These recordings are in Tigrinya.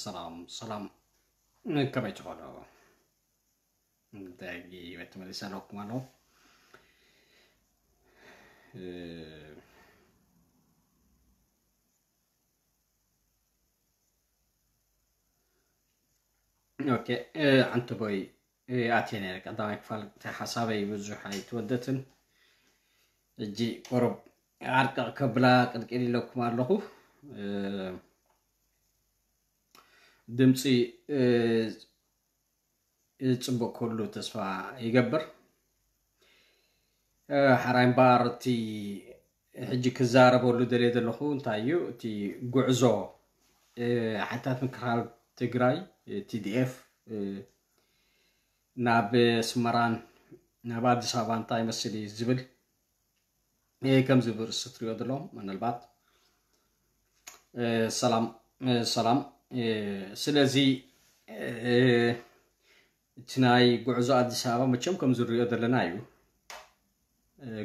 ሰላም ሰላም፣ ከመይ ትኾኑ? ዳጊ ተመሊሰ ኣለኩም ኣለኹ። ኦኬ፣ ሓንቲ ቦይ ኣትየ ነይረ። ቀዳማይ ክፋል ሓሳበይ ብዙሕ ኣይተወደትን። እጂ ቆረብ ዓርቀቕ ከብላ ቅልቅል ኢለኩም ኣለኹ። ድምፂ ፅቡቅ ክህሉ ተስፋ ይገብር። ሓራይ እምበኣር እቲ ሕጂ ክዛረበሉ ደልየ ዘለኹ እንታይ እዩ፣ እቲ ጉዕዞ ሓይልታት ምክልኻል ትግራይ፣ ቲዲኤፍ፣ ናብ ኣስመራን ናብ ኣዲስ ኣበባ እንታይ ይመስል እዩ ዝብል ከምዚ ብርእሲ ትሪኦ ዘሎ ምናልባት። ሰላም ሰላም። ስለዚ እቲ ናይ ጉዕዞ ኣዲስ ኣበባ መቸም ከም ዝሪኦ ዘለና እዩ።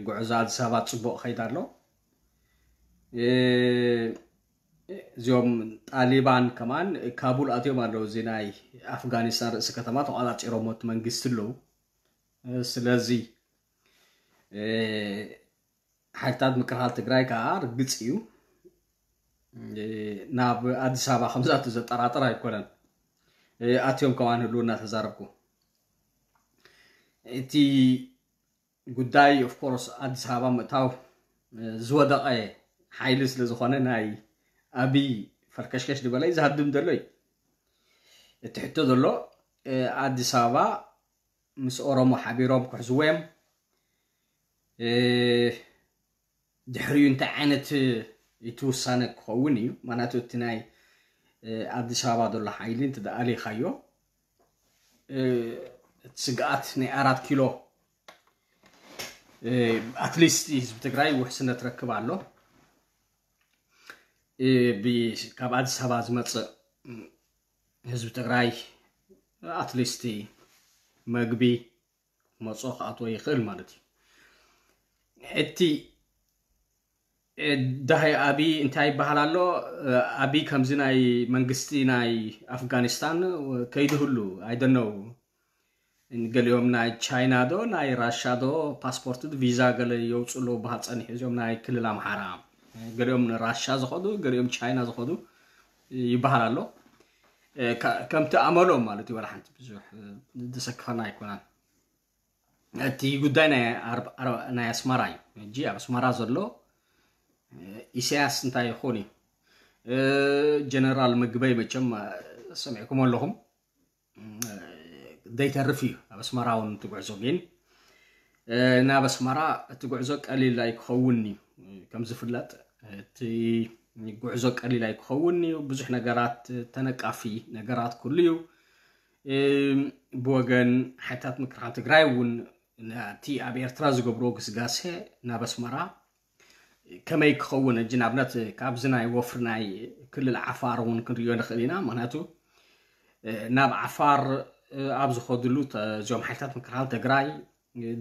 ጉዕዞ ኣዲስ ኣበባ ፅቡቅ ከይዳ ኣሎ። እዚኦም ጣሊባን ከማን ካቡል ኣትዮም ኣለዉ። እዚ ናይ ኣፍጋኒስታን ርእሲ ከተማ ተቋፃፂሮሞ እቲ መንግስቲ ኣለዉ። ስለዚ ሓይልታት ምክልኻል ትግራይ ከዓ ርግፅ እዩ ናብ ኣዲስ ኣበባ ከምዛቱ ዘጠራጥር ኣይኮነን። ኣትዮም ከማን ህልው እናተዛረብኩ እቲ ጉዳይ ኦፍኮርስ ኣዲስ ኣበባ ምእታው ዝወደቐ ሓይሊ ስለ ዝኾነ ናይ ኣብይ ፈርከሽከሽ ዝበለ እዩ ዝሃድም ዘሎ እዩ። እቲ ሕቶ ዘሎ ኣዲስ ኣበባ ምስ ኦሮሞ ሓቢሮም ክሕዝዎ እዮም። ድሕሪኡ እንታይ ዓይነት እቲ ውሳነ ክኸውን እዩ? ምክንያቱ እቲ ናይ ኣዲስ ኣበባ ዘሎ ሓይሊ እንተ ደኣ ኣሊኻዮ እቲ ስግኣት ናይ ኣራት ኪሎ ኣትሊስት ህዝቢ ትግራይ ውሕስነት ረክብ ኣሎ። ካብ ኣዲስ ኣበባ ዝመፅእ ህዝቢ ትግራይ ኣትሊስት መግቢ መፅኦ ክኣትዎ ይኽእል ማለት እዩ። እቲ ዳሃይ ኣብይ እንታይ ይበሃል ኣሎ? ኣብይ ከምዚ ናይ መንግስቲ ናይ ኣፍጋኒስታን ከይድህሉ ኣይደነው። ገሊኦም ናይ ቻይና ዶ ናይ ራሻ ዶ ፓስፖርት ቪዛ ገለ የውፅኡ ኣለዉ በሃል ፀኒሑ። እዚኦም ናይ ክልል ኣምሓራ ገሊኦም ንራሻ ዝኸዱ ገሊኦም ቻይና ዝኸዱ ይበሃል ኣሎ። ከምቲ ኣመሎም ማለት እዩ። ዋላ ሓንቲ ብዙሕ ዘሰክፈና ኣይኮናን። እቲ ጉዳይ ናይ ኣስመራ እዩ። ሕጂ ኣብ ኣስመራ ዘሎ ኢሳያስ እንታይ ይኾን እዩ? ጀነራል ምግበይ መቸም ሰሚዕኩም ኣለኹም። ዘይተርፍ እዩ ኣብ ኣስመራ እውን እቲ ጉዕዞ። ግን ናብ ኣስመራ እቲ ጉዕዞ ቀሊል ኣይክኸውን እዩ። ከም ዝፍለጥ እቲ ጉዕዞ ቀሊል ኣይክኸውን እዩ። ብዙሕ ነገራት ተነቃፊ ነገራት ኩሉ እዩ። ብወገን ሓይልታት ምክልኻል ትግራይ እውን እቲ ኣብ ኤርትራ ዝገብርዎ ግስጋሴ ናብ ኣስመራ ከመይ ክኸውን፣ ሕጂ ንኣብነት ካብዚ ናይ ወፍሪ ናይ ክልል ዓፋር እውን ክንሪኦ ንኽእል ኢና። ምክንያቱ ናብ ዓፋር ኣብ ዝኸድሉ እዚኦም ሓይልታት ምክልኻል ትግራይ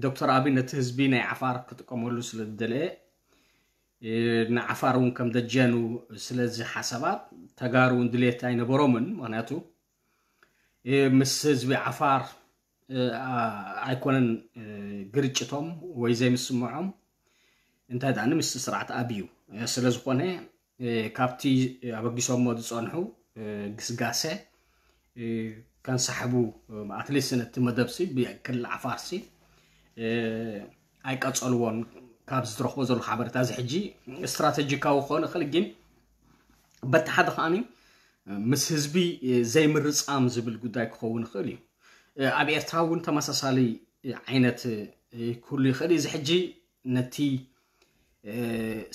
ዶክተር ኣብይ ነቲ ህዝቢ ናይ ዓፋር ክጥቀመሉ ስለ ዝደለየ ንዓፋር እውን ከም ደጀኑ ስለዚ ሓሳባት ተጋሩ እውን ድሌት ኣይነበሮምን። ምክንያቱ ምስ ህዝቢ ዓፋር ኣይኮነን ግርጭቶም ወይ ዘይምስምዖም፣ እንታይ ደኣ ምስቲ ስርዓት ኣብዩ ስለ ዝኾነ ካብቲ ኣበጊሶሞ ዝፀንሑ ግስጋሴ ከንሳሕቡ ኣትሊስት ነቲ መደብሲ ብክልል ዓፋርሲ ኣይቀፀልዎን። ካብ ዝትረኽቦ ዘሎ ሓበሬታ እዚ ሕጂ ስትራተጂካዊ ክኾን ይኽእል፣ ግን በቲ ሓደ ከዓኒ ምስ ህዝቢ ዘይምርፃም ዝብል ጉዳይ ክኸውን ይኽእል እዩ። ኣብ ኤርትራ እውን ተመሳሳሊ ዓይነት ክህሉ ይኽእል እዩ። እዚ ሕጂ ነቲ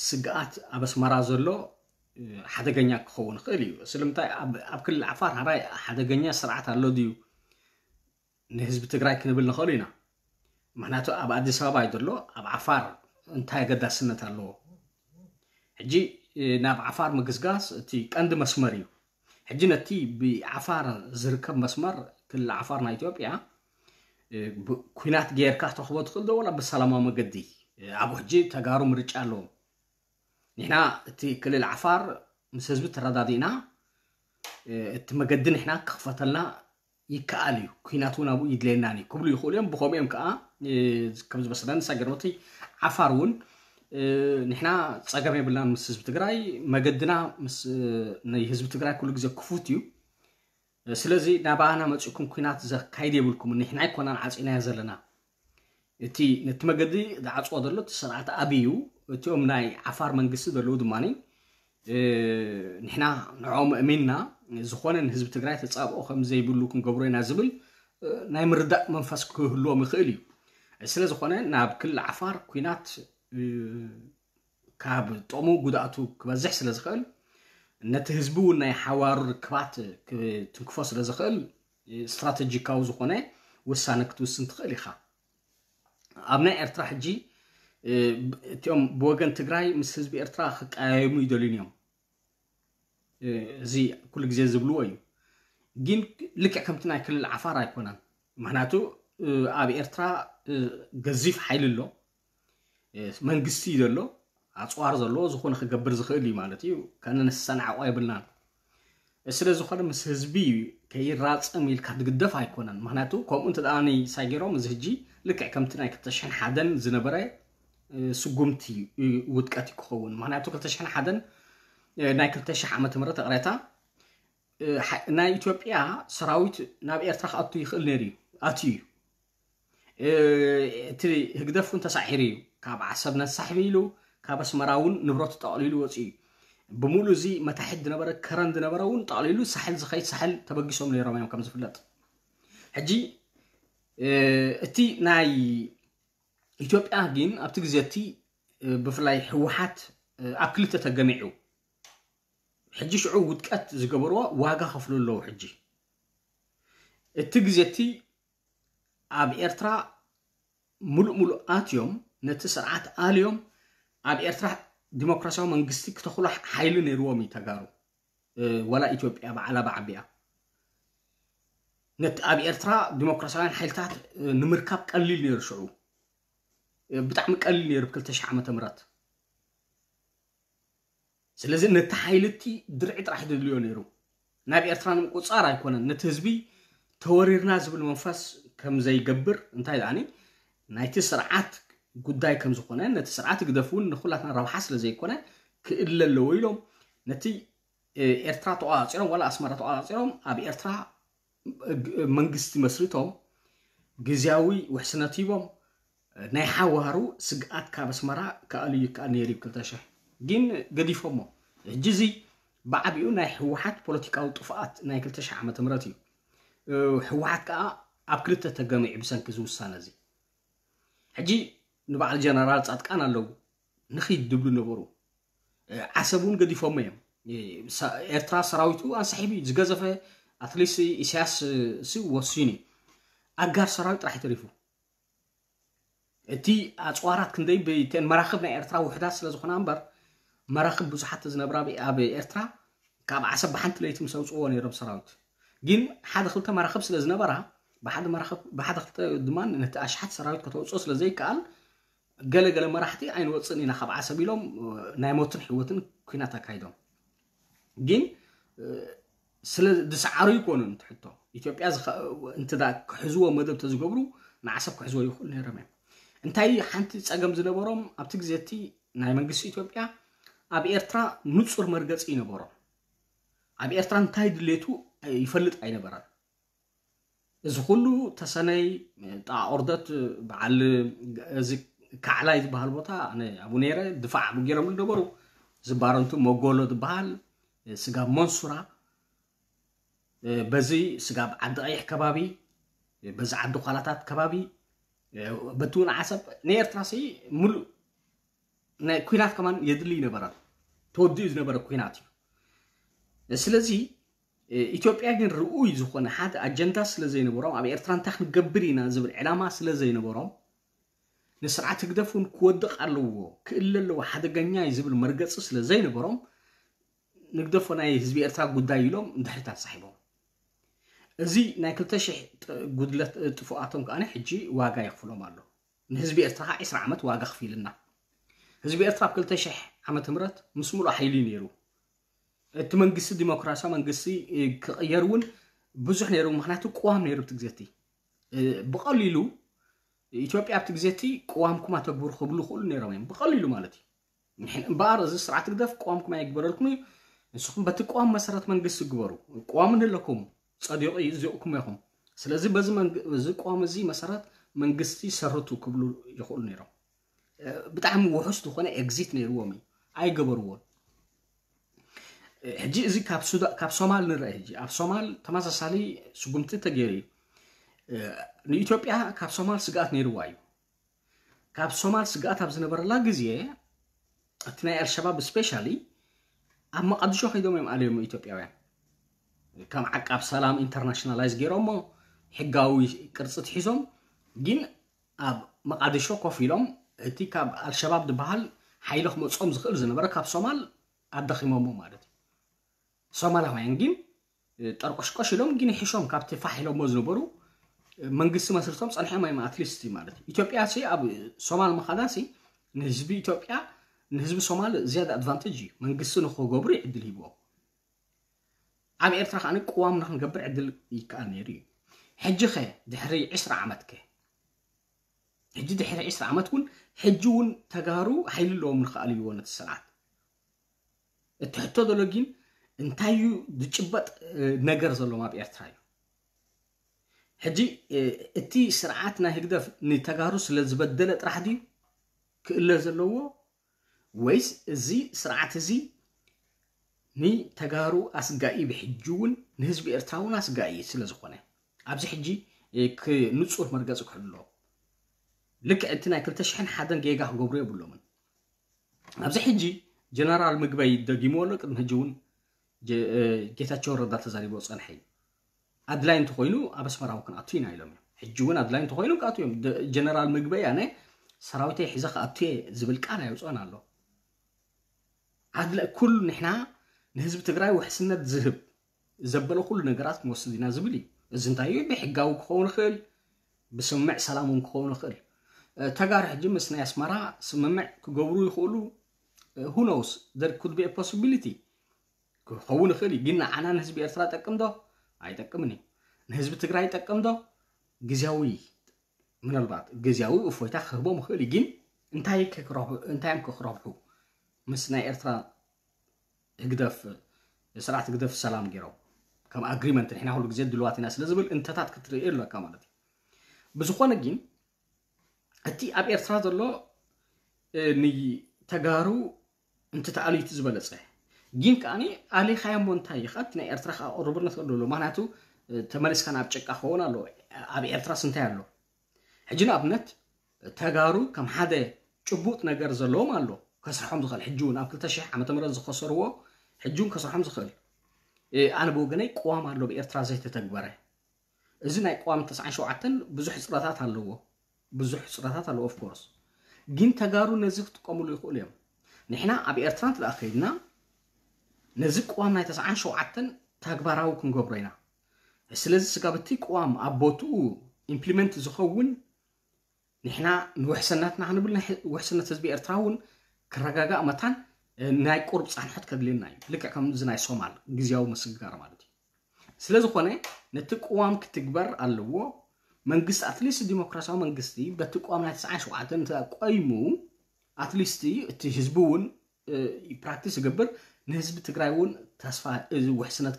ስግኣት ኣብ ኣስመራ ዘሎ ሓደገኛ ክኸውን ይኽእል እዩ። ስለምንታይ ኣብ ክልል ዓፋር ሓራይ ሓደገኛ ስርዓት ኣሎ ድዩ ንህዝቢ ትግራይ ክንብል ንኽእል ኢና። ምክንያቱ ኣብ ኣዲስ ኣበባ እዩ ዘሎ፣ ኣብ ዓፋር እንታይ ኣገዳስነት ኣለዎ? ሕጂ ናብ ዓፋር ምግስጋስ እቲ ቀንዲ መስመር እዩ። ሕጂ ነቲ ብዓፋር ዝርከብ መስመር ክልል ዓፋር ናይ ኢትዮጵያ ኩናት ጌርካ ክትረኽቦ ትኽእል ዶ ወላ ብሰላማዊ መገዲ? ኣብኡ ሕጂ ተጋሩ ምርጫ ኣለዎም። ንሕና እቲ ክልል ዓፋር ምስ ህዝቢ ተረዳዲእና እቲ መገዲ ንሕና ክኽፈተልና ይከኣል እዩ፣ ኩናት እውን ኣብኡ ይድለየናን እዩ ክብሉ ይኽእሉ እዮም። ብኸምኡ እዮም ከዓ ከምዚ መሰለን ሳገሮቲ ዓፋር እውን ንሕና ፀገም የብልናን ምስ ህዝቢ ትግራይ፣ መገድና ምስ ናይ ህዝቢ ትግራይ ኩሉ ግዜ ክፉት እዩ። ስለዚ ናባና መፂእኩም ኩናት ዘካይድ የብልኩም፣ ንሕና ኣይኮናን ዓፂናዮ ዘለና። እቲ ነቲ መገዲ ዝዓፅዎ ዘሎ እቲ ስርዓት ኣብይ እዩ። እቲኦም ናይ ዓፋር መንግስቲ ዘለዉ ድማ ንሕና ንዕኦም እሚንና ዝኾነ ንህዝቢ ትግራይ ተፃብኦ ከም ዘይብሉ ክንገብሮ ኢና ዝብል ናይ ምርዳእ መንፈስ ክህልዎም ይኽእል እዩ። ስለ ዝኾነ ናብ ክልል ዓፋር ኩናት ካብ ጥቕሙ ጉድኣቱ ክበዝሕ ስለ ዝኽእል፣ ነቲ ህዝቢ እውን ናይ ሓዋሩ ርክባት ክትንክፎ ስለ ዝኽእል ስትራተጂካዊ ዝኾነ ውሳነ ክትውስን ትኽእል ኢኻ። ኣብ ናይ ኤርትራ ሕጂ እቲኦም ብወገን ትግራይ ምስ ህዝቢ ኤርትራ ክቀያየሙ ይደልዩን እዮም። እዚ ኩሉ ግዜ ዝብልዎ እዩ። ግን ልክዕ ከምቲ ናይ ክልል ዓፋር ኣይኮነን። ምክንያቱ ኣብ ኤርትራ ገዚፍ ሓይሊ ኣሎ፣ መንግስቲ እዩ ዘሎ፣ ኣፅዋር ዘለዎ፣ ዝኾነ ክገብር ዝኽእል እዩ ማለት እዩ። ከነሰናዕቆ የብልናን። ስለ ዝኾነ ምስ ህዝቢ ከይራፀም ኢልካ ትግደፍ ኣይኮነን። ምክንያቱ ከምኡ እንተ ደኣ ሳይገሮም እዚ ሕጂ ልክዕ ከምቲ ናይ ክልተ ሽሕን ሓደን ዝነበረ ስጉምቲ ውድቀት እዩ ክኸውን። ምክንያቱ ክልተ ሽሕን ሓደን ናይ ክልተ ሽሕ ዓመተ ምህረት እቕሬታ ናይ ኢትዮጵያ ሰራዊት ናብ ኤርትራ ክኣቱ ይኽእል ነይሩ እዩ፣ ኣትዩ እዩ። እቲ ህግደፍ እውን ተሳዒሩ እዩ። ካብ ዓሰብ ነሳሕቢ ኢሉ ካብ ኣስመራ እውን ንብረቱ ጠቕሊሉ ወፂኡ እዩ። ብምሉእ እዚ መታሕት ዝነበረ ከረን ዝነበረ እውን ጠቕሊሉ ሳሕል ዝኸይድ ሳሕል ተበጊሶም ነይሮም እዮም ከም ዝፍለጥ። ሕጂ እቲ ናይ ኢትዮጵያ ግን ኣብቲ ግዜ እቲ ብፍላይ ህወሓት ኣብ ክልተ ተገሚዑ ሕጂ ሽዑ ውድቀት ዝገበርዎ ዋጋ ከፍሉ ኣለዉ። ሕጂ እቲ ግዜ እቲ ኣብ ኤርትራ ሙሉእ ሙሉእ ኣትዮም ነቲ ስርዓት ኣልዮም ኣብ ኤርትራ ዲሞክራሲያዊ መንግስቲ ክተኽሉ ሓይሊ ነይርዎም እዩ ተጋሩ። ወላ ኢትዮጵያ በዓላ ብዓቢያ ነቲ ኣብ ኤርትራ ዲሞክራሲያውያን ሓይልታት ንምርካብ ቀሊል ነይሩ። ሽዑ ብጣዕሚ ቀሊል ነይሩ ብ ክልተ ሽሕ ዓመተ ምህረት። ስለዚ ነቲ ሓይሊ እቲ ድርዒ ጥራሕ ደልዮ ነይሩ። ናብ ኤርትራ ንምቁፅፃር ኣይኮነን፣ ነቲ ህዝቢ ተወሪርና ዝብል መንፈስ ከም ዘይገብር፣ እንታይ ደኣኒ ናይቲ ስርዓት ጉዳይ ከም ዝኾነ፣ ነቲ ስርዓት ግደፍ እውን ንኩላትና ረብሓ ስለ ዘይኮነ ክእለ ኣለዎ ኢሎም ነቲ ኤርትራ ተቋፂሮም ዋላ ኣስመራ ተቋፂሮም ኣብ ኤርትራ መንግስቲ መስሪቶም ግዝያዊ ውሕስነት ሂቦም ናይ ሓዋሩ ስግኣት ካብ ኣስመራ ክኣሉ ይከኣል ነይሩ እዩ። ክልተ ሽሕ ግን ገዲፎሞ። ሕጂ እዚ ብዓቢኡ ናይ ህወሓት ፖለቲካዊ ጥፍኣት ናይ ክልተ ሽሕ ዓመተ ምህረት እዩ። ህወሓት ከዓ ኣብ ክልተ ተገሚዑ ብሰንኪ እዚ ውሳነ እዚ። ሕጂ ንበዓል ጀነራል ፃድቃን ኣለዉ ንኺድ ድብሉ ነበሩ። ዓሰብ እውን ገዲፎሞ እዮም። ኤርትራ ሰራዊቱ ኣንሳሒቡ እዩ ዝገዘፈ። ኣትሊስት ኢሳያስ ሲ ወሲኑ እዩ። ኣጋር ሰራዊት ጥራሕ ተሪፉ። እቲ ኣፅዋራት ክንደይ ብተን መራኽብ ናይ ኤርትራ ውሕዳት ስለ ዝኾና እምበር መራኽብ ብዙሓት ዝነብራ ኣብ ኤርትራ ካብ ዓሰብ ብሓንቲ ለይቲ ምስ ኣውፅዎ ነይሮም ሰራዊት። ግን ሓደ ክልተ መራኽብ ስለ ዝነበራ ብሓደ መራኽብ ብሓደ ክልተ ድማ ነቲ ኣሽሓት ሰራዊት ከተውፅኦ ስለ ዘይከኣል ገለ ገለ መራሕቲ ኣይንወፅን ኢና ካብ ዓሰብ ኢሎም ናይ ሞትን ሕይወትን ኩናት ኣካይዶም። ግን ስለ ዝሰዓሩ ይኮኑን ትሕቶ ኢትዮጵያ እንተ ክሕዝዎ መደብ ተዝገብሩ ንዓሰብ ክሕዝዎ ይኽእሉ ነይሮም እዮም። እንታይ ሓንቲ ፀገም ዝነበሮም ኣብቲ ግዜ እቲ ናይ መንግስቲ ኢትዮጵያ ኣብ ኤርትራ ንፁር መርገፂ ይነበሮም። ኣብ ኤርትራ እንታይ ድሌቱ ይፈልጥ ኣይነበረን። እዚ ኩሉ ተሰነይ ጣኦርደት በዓል እዚ ካዕላይ ዝበሃል ቦታ ኣነ ኣብኡ ነይረ። ድፋዕ ኣብኡ ገይሮምሉ ነበሩ። እዚ ባረንቱ መጎሎ ዝበሃል ስጋብ መንሱራ በዚ ስጋብ ዓዲ ቀይሕ ከባቢ በዚ ዓዲ ኳላታት ከባቢ በቲ እውን ዓሰብ ንኤርትራ ሲ ሙሉእ ናይ ኩናት ከማን የድሊ ይነበረ። ተወዲኡ ዝነበረ ኩናት እዩ። ስለዚ ኢትዮጵያ ግን ርኡይ ዝኾነ ሓደ ኣጀንዳ ስለ ዘይነበሮም ኣብ ኤርትራ እንታይ ክንገብር ኢና ዝብል ዕላማ ስለ ዘይነበሮም ንስርዓት ህግደፍ እውን ክወድቕ ኣለዎ ክእለ ኣለዎ ሓደገኛ እዩ ዝብል መርገፂ ስለ ዘይነበሮም ንግደፎ ናይ ህዝቢ ኤርትራ ጉዳይ ኢሎም ንድሕሪት ኣሳሒቦም። እዚ ናይ ክልተ ሽሕ ጉድለት ጥፉኣቶም ከዓ ሕጂ ዋጋ የኽፍሎም ኣሎ። ንህዝቢ ኤርትራ ከዓ ዕስራ ዓመት ዋጋ ክፊልና። ህዝቢ ኤርትራ ኣብ ክልተ ሽሕ ዓመተ ምህረት ምስ ሙሉእ ሓይሊ ነይሩ። እቲ መንግስቲ ዲሞክራሲያዊ መንግስቲ ክቕየር እውን ብዙሕ ነይሩ። ምክንያቱ ቅዋም ነይሩ ኣብቲ ግዜቲ። ብቐሊሉ ኢትዮጵያ ኣብቲ ግዜቲ ቅዋምኩም ኣተግብሩ ክብሉ ይኽእሉ ነይሮም እዮም፣ ብቐሊሉ ማለት እዩ። እምበኣር እዚ ስርዓት ህግደፍ ቅዋምኩም ኣይግበረልኩም እዩ፣ ንስኹም በቲ ቅዋም መሰረት መንግስቲ ግበሩ፣ ቅዋም ንለኩም ጸዲቑ እዩ፣ እዚቕኩም ኢኹም። ስለዚ በዚ ቅዋም እዚ መሰረት መንግስቲ ሰርቱ ክብሉ ይኽእሉ ነይሮም። ብጣዕሚ ውሑስ ዝኾነ ኤግዚት ነይርዎም እዩ፣ ኣይገበርዎን። ሕጂ እዚ ካብ ሶማል ንርአ። ሕጂ ኣብ ሶማል ተመሳሳሊ ስጉምቲ ተገይሩ እዩ። ንኢትዮጵያ ካብ ሶማል ስግኣት ነይርዋ እዩ። ካብ ሶማል ስግኣት ኣብ ዝነበረላ ግዜ እቲ ናይ ኣልሸባብ ስፔሻሊ ኣብ መቃድሾ ከይዶም እዮም ኣልዮሞ ኢትዮጵያውያን። ከም ዓቃብ ሰላም ኢንተርናሽናላይዝ ገይሮሞ፣ ሕጋዊ ቅርፂ ትሒዞም። ግን ኣብ መቃድሾ ኮፍ ኢሎም እቲ ካብ ኣልሸባብ ዝበሃል ሓይሊ ክመፆም ዝኽእል ዝነበረ ካብ ሶማል ኣዳኺሞሞ ማለት እዩ። ሶማላውያን ግን ጠርቆሽቆሽ ኢሎም ግን ይሕሾም ካብቲ ፋሕ ኢሎሞ ዝነበሩ መንግስቲ መስርቶም ጸንሖም እዮም። ኣትሊስት ማለት እዩ ኢትዮጵያ ሲ ኣብ ሶማል ምኻዳ ሲ ንህዝቢ ኢትዮጵያ ንህዝቢ ሶማል ዝያዳ ኣድቫንቴጅ እዩ። መንግስቲ ንክገብሩ ዕድል ሂብዎም። ኣብ ኤርትራ ከዓ ቅዋም ንክንገብር ዕድል ይከኣል ነይሩ እዩ። ሕጂ ኸ ድሕሪ ዕስራ ዓመት ከ ሕጂ ድሕሪ ዕስራ ዓመት እውን ሕጂ እውን ተጋሩ ሓይሊ ኣለዎም ንክኣልይዎ ነቲ ስርዓት። እቲ ሕቶ ዘሎ ግን እንታይ እዩ ዝጭበጥ ነገር ዘሎም ኣብ ኤርትራ እዩ። ሕጂ እቲ ስርዓት ናይ ህግደፍ ንተጋሩ ስለ ዝበደለ ጥራሕ ድዩ ክእለ ዘለዎ፣ ወይስ እዚ ስርዓት እዚ ንተጋሩ ኣስጋኢ ብሕጂ እውን ንህዝቢ ኤርትራ እውን ኣስጋኢ ስለ ዝኾነ ኣብዚ ሕጂ ንጹር መርገፂ ክሕሉ ኣለዎ። ልክዕ እቲ ናይ ክልተ ሽሕን ሓደን ጌጋ ክገብሩ የብሎምን። ኣብዚ ሕጂ ጀነራል ምግበይ ደጊሞ ኣሎ፣ ቅድሚ ሕጂ እውን ጌታቸው ረዳ ተዛሪቦ ጸንሐ እዩ። ኣድላይ እንተኮይኑ ኣብ ኣስመራ እውን ክንኣቱ ኢና ኢሎም እዮም። ሕጂ እውን ኣድላይ እንተኮይኑ ክኣቱ እዮም። ጀነራል ምግበይ ኣነ ሰራዊተይ ሒዘ ክኣቱ እየ ዝብል ቃል ኣይውፅኦን ኣሎ። ኣድለ ኩሉ ንሕና ንህዝቢ ትግራይ ውሕስነት ዝህብ ዘበለ ኩሉ ነገራት ክንወስድ ኢና ዝብል እዩ። እዚ እንታይ እዩ? ብሕጋዊ ክኸውን ይኽእል፣ ብስምምዕ ሰላም እውን ክኸውን ይኽእል። ተጋሩ ሕጂ ምስ ናይ ኣስመራ ስምምዕ ክገብሩ ይኽእሉ። ሁኖውስ there could be possibility ክኸውን ይኽእል እዩ። ግን ንዓና ንህዝቢ ኤርትራ ጠቅም ዶ? ኣይጠቅምን እዩ። ንህዝቢ ትግራይ ጠቅም ዶ? ግዜያዊ ምናልባት ግዜያዊ እፎይታ ክህቦም ይኽእል እዩ። ግን እንታይ እንታይ እዮም ክረብሑ ምስ ናይ ኤርትራ ህግደፍ ስርዓት ህግደፍ ሰላም ገይሮም ከም ኣግሪመንት ንሕና ኩሉ ግዜ ድልዋት ኢና ስለ ዝብል እንተታት ክትርኢ ኣለካ ማለት እዩ። ብዝኾነ ግን እቲ ኣብ ኤርትራ ዘሎ ንተጋሩ እንተተኣልዩ እቲ ዝበለፀ ግን ከዓኒ ኣሊኻዮ እሞ እንታይ እዩ ከኣ ናይ ኤርትራ ከኣ ቅሩብነት ኣሎ። ምክንያቱ ተመሊስካ ናብ ጭቃ ክኸውን ኣሎ። ኣብ ኤርትራስ እንታይ ኣሎ? ሕጂ ንኣብነት ተጋሩ ከም ሓደ ጭቡጥ ነገር ዘለዎም ኣሎ ከስርሖም ዝኽእል፣ ሕጂ እውን ኣብ ክልተ ሽሕ ዓመተ ምህረት ዝኸሰርዎ ሕጂ እውን ከስርሖም ዝኽእል። ኣነ ብወገነይ ቅዋም ኣሎ ብኤርትራ ዘይተተግበረ። እዚ ናይ ቅዋም ተስዓን ሸውዓተን ብዙሕ ሕፅረታት ኣለዎ፣ ብዙሕ ሕፅረታት ኣለዎ ኦፍኮርስ። ግን ተጋሩ ነዚ ክጥቀምሉ ይኽእሉ እዮም። ንሕና ኣብ ኤርትራ እንተ ከይድና ነዚ ቅዋም ናይ ተስዓን ሸውዓተን ተግባራዊ ክንገብሮ ኢና። ስለዚ ስጋብ እቲ ቅዋም ኣብ ቦትኡ ኢምፕሊመንት ዝኸውን ንሕና ንውሕስነትና ክንብል ውሕስነት ህዝቢ ኤርትራ እውን ክረጋጋእ መታን ናይ ቁርብ ፃንሖት ከድልየና እዩ። ልክዕ ከምዚ ናይ ሶማል ግዜያዊ ምስግጋር ማለት እዩ። ስለ ዝኾነ ነቲ ቅዋም ክትግበር ኣለዎ። መንግስቲ ኣትሊስት ዲሞክራሲያዊ መንግስቲ በቲ ቅዋም ናይ ተስዓን ሸውዓተን እንተ ቆይሙ ኣትሊስት እቲ ህዝቢ እውን ፕራክቲስ ይገብር፣ ንህዝቢ ትግራይ እውን ተስፋ እዚ ውሕስነት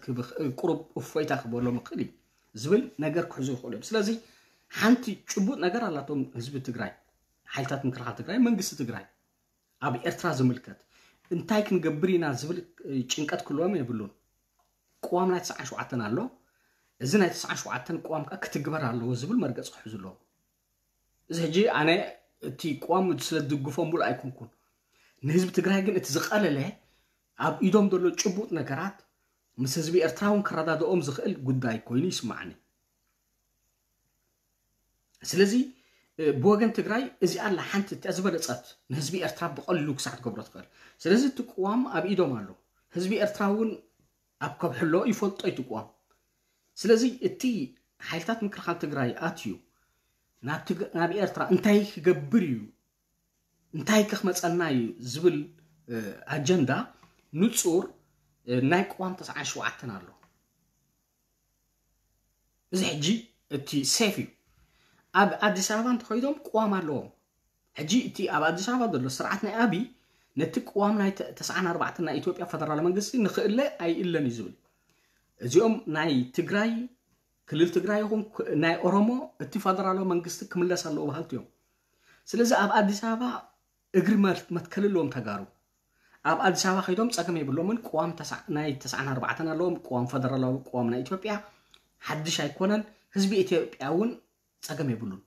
ቁሩብ እፎይታ ክበሎም ይኽእል እዩ ዝብል ነገር ክሕዙ ይኽእሉ እዮም። ስለዚ ሓንቲ ጭቡጥ ነገር ኣላቶም ህዝቢ ትግራይ፣ ሓይልታት ምክልኻል ትግራይ፣ መንግስቲ ትግራይ ኣብ ኤርትራ ዝምልከት እንታይ ክንገብር ኢና ዝብል ጭንቀት ክህልዎም የብሉን። ቅዋም ናይ ተስዓን ሸውዓተን ኣሎ። እዚ ናይ ተስዓን ሸውዓተን ቅዋም ከዓ ክትግበር ኣለዎ ዝብል መርገፂ ክሕዙ ኣለዎም። እዚ ሕጂ ኣነ እቲ ቅዋም ስለ ዝድግፎ ሙሉእ ኣይኮንኩን። ንህዝቢ ትግራይ ግን እቲ ዝቐለለ ኣብ ኢዶም ዘሎ ጭቡጥ ነገራት ምስ ህዝቢ ኤርትራ እውን ክረዳድኦም ዝኽእል ጉዳይ ኮይኑ ይስማዓኒ። ስለዚ ብወገን ትግራይ እዚኣ ኣላ ሓንቲ እቲኣ ዝበለፀት ንህዝቢ ኤርትራ ብቐሊሉ ክሳዕ ትገብሮ ትኽእል። ስለዚ እቲ ቅዋም ኣብ ኢዶም ኣሎ። ህዝቢ ኤርትራ እውን ኣብ ከብሕሎ ይፈልጦ እዩ እቲ ቅዋም። ስለዚ እቲ ሓይልታት ምክልኻል ትግራይ ኣትዩ ናብ ኤርትራ እንታይ ክገብር እዩ እንታይ ከ ክመፀና እዩ ዝብል ኣጀንዳ ንፁር ናይ ቅዋም ተስዓን ሸውዓተን ኣሎ። እዚ ሕጂ እቲ ሴፍ እዩ። ኣብ ኣዲስ ኣበባ እንተኸይዶም ቅዋም ኣለዎም። ሕጂ እቲ ኣብ ኣዲስ ኣበባ ዘሎ ስርዓት ናይ ኣብይ ነቲ ቅዋም ናይ ተ- ተስዓን ኣርባዕተን ናይ ኢትዮጵያ ፈደራል መንግስቲ ንኽእለ ኣይእለን እዩ ዝብል። እዚኦም ናይ ትግራይ ክልል ትግራይ ይኹን ክ- ናይ ኦሮሞ እቲ ፈደራላዊ መንግስቲ ክምለስ ኣለዎ በሃልቲ እዮም። ስለዚ ኣብ ኣዲስ ኣበባ እግሪ መር- መትከል ኣለዎም ተጋሩ። ኣብ ኣዲስ ኣበባ ከይዶም ጸገም የብሎምን። ቅዋም ተስዓ- ናይ ተስዓን ኣርባዕተን ኣለዎም። ቅዋም ፈደራላዊ ቅዋም ናይ ኢትዮጵያ ሓድሽ ኣይኮነን። ህዝቢ ኢትዮጵያ እውን ጸገም የብሉን።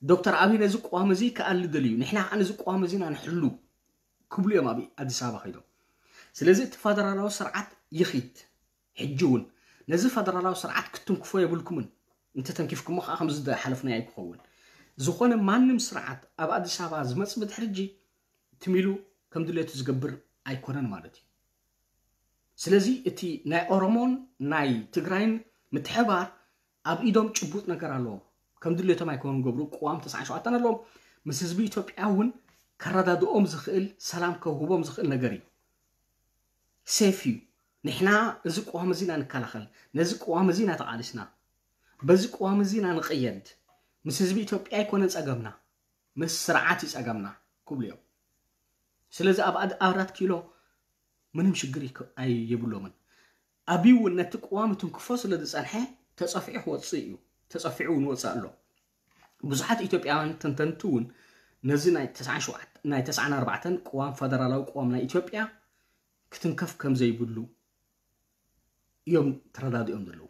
ዶክተር ኣብይ ነዚ ቅዋም እዚ ክኣሊ ደልዩ፣ ንሕና ከዓ ነዚ ቅዋም እዚና ንሕሉ ክብሉ እዮም ኣብ ኣዲስ ኣበባ ከይዶም። ስለዚ እቲ ፈደራላዊ ስርዓት ይኺድ። ሕጂ እውን ነዚ ፈደራላዊ ስርዓት ክትንክፎ የብልኩምን። እንተተንኪፍኩሞ ከዓ ከምዚ ዝሓለፍናዮ ኣይክኸውን። ዝኾነ ማንም ስርዓት ኣብ ኣዲስ ኣበባ ዝመፅ ብድሕሪ ሕጂ ትሚሉ ከም ድሌቱ ዝገብር ኣይኮነን ማለት እዩ። ስለዚ እቲ ናይ ኦሮሞን ናይ ትግራይን ምትሕባር ኣብ ኢዶም ጭቡጥ ነገር ኣለዎም። ከም ድሌቶም ኣይኮኑን ገብሩ። ቅዋም ተስዓን ሸውዓተን ኣለዎም። ምስ ህዝቢ ኢትዮጵያ እውን ከረዳድኦም ዝኽእል፣ ሰላም ከውህቦም ዝኽእል ነገር እዩ። ሴፍ እዩ። ንሕና እዚ ቅዋም እዚ ኢና ንከላኸል፣ ነዚ ቅዋም እዚ ኢና ተቓሊስና። በዚ ቅዋም እዚ ኢና ንቕየድ። ምስ ህዝቢ ኢትዮጵያ ኣይኮነን ጸገምና፣ ምስ ስርዓት እዩ ጸገምና ክብሉ እዮም። ስለዚ ኣብ ኣድ- ኣራት ኪሎ ምንም ሽግር ይከ- ኣይ- የብሎምን። ኣብይ እውን ነቲ ቅዋም ትንክፎ ስለ ዝጸንሐ ተጸፊዑ ክወጽእ እዩ። ተጸፊዑ እውን ወጽእ ኣሎ። ብዙሓት ኢትዮጵያውያን ተንተንቲ እውን ነዚ ናይ ተስዓን ሸውዓተ ናይ ተስዓን ኣርባዕተን ቅዋም ፈደራላዊ ቅዋም ናይ ኢትዮጵያ ክትንከፍ ከም ዘይብሉ እዮም ተረዳዲኦም ዘለዉ።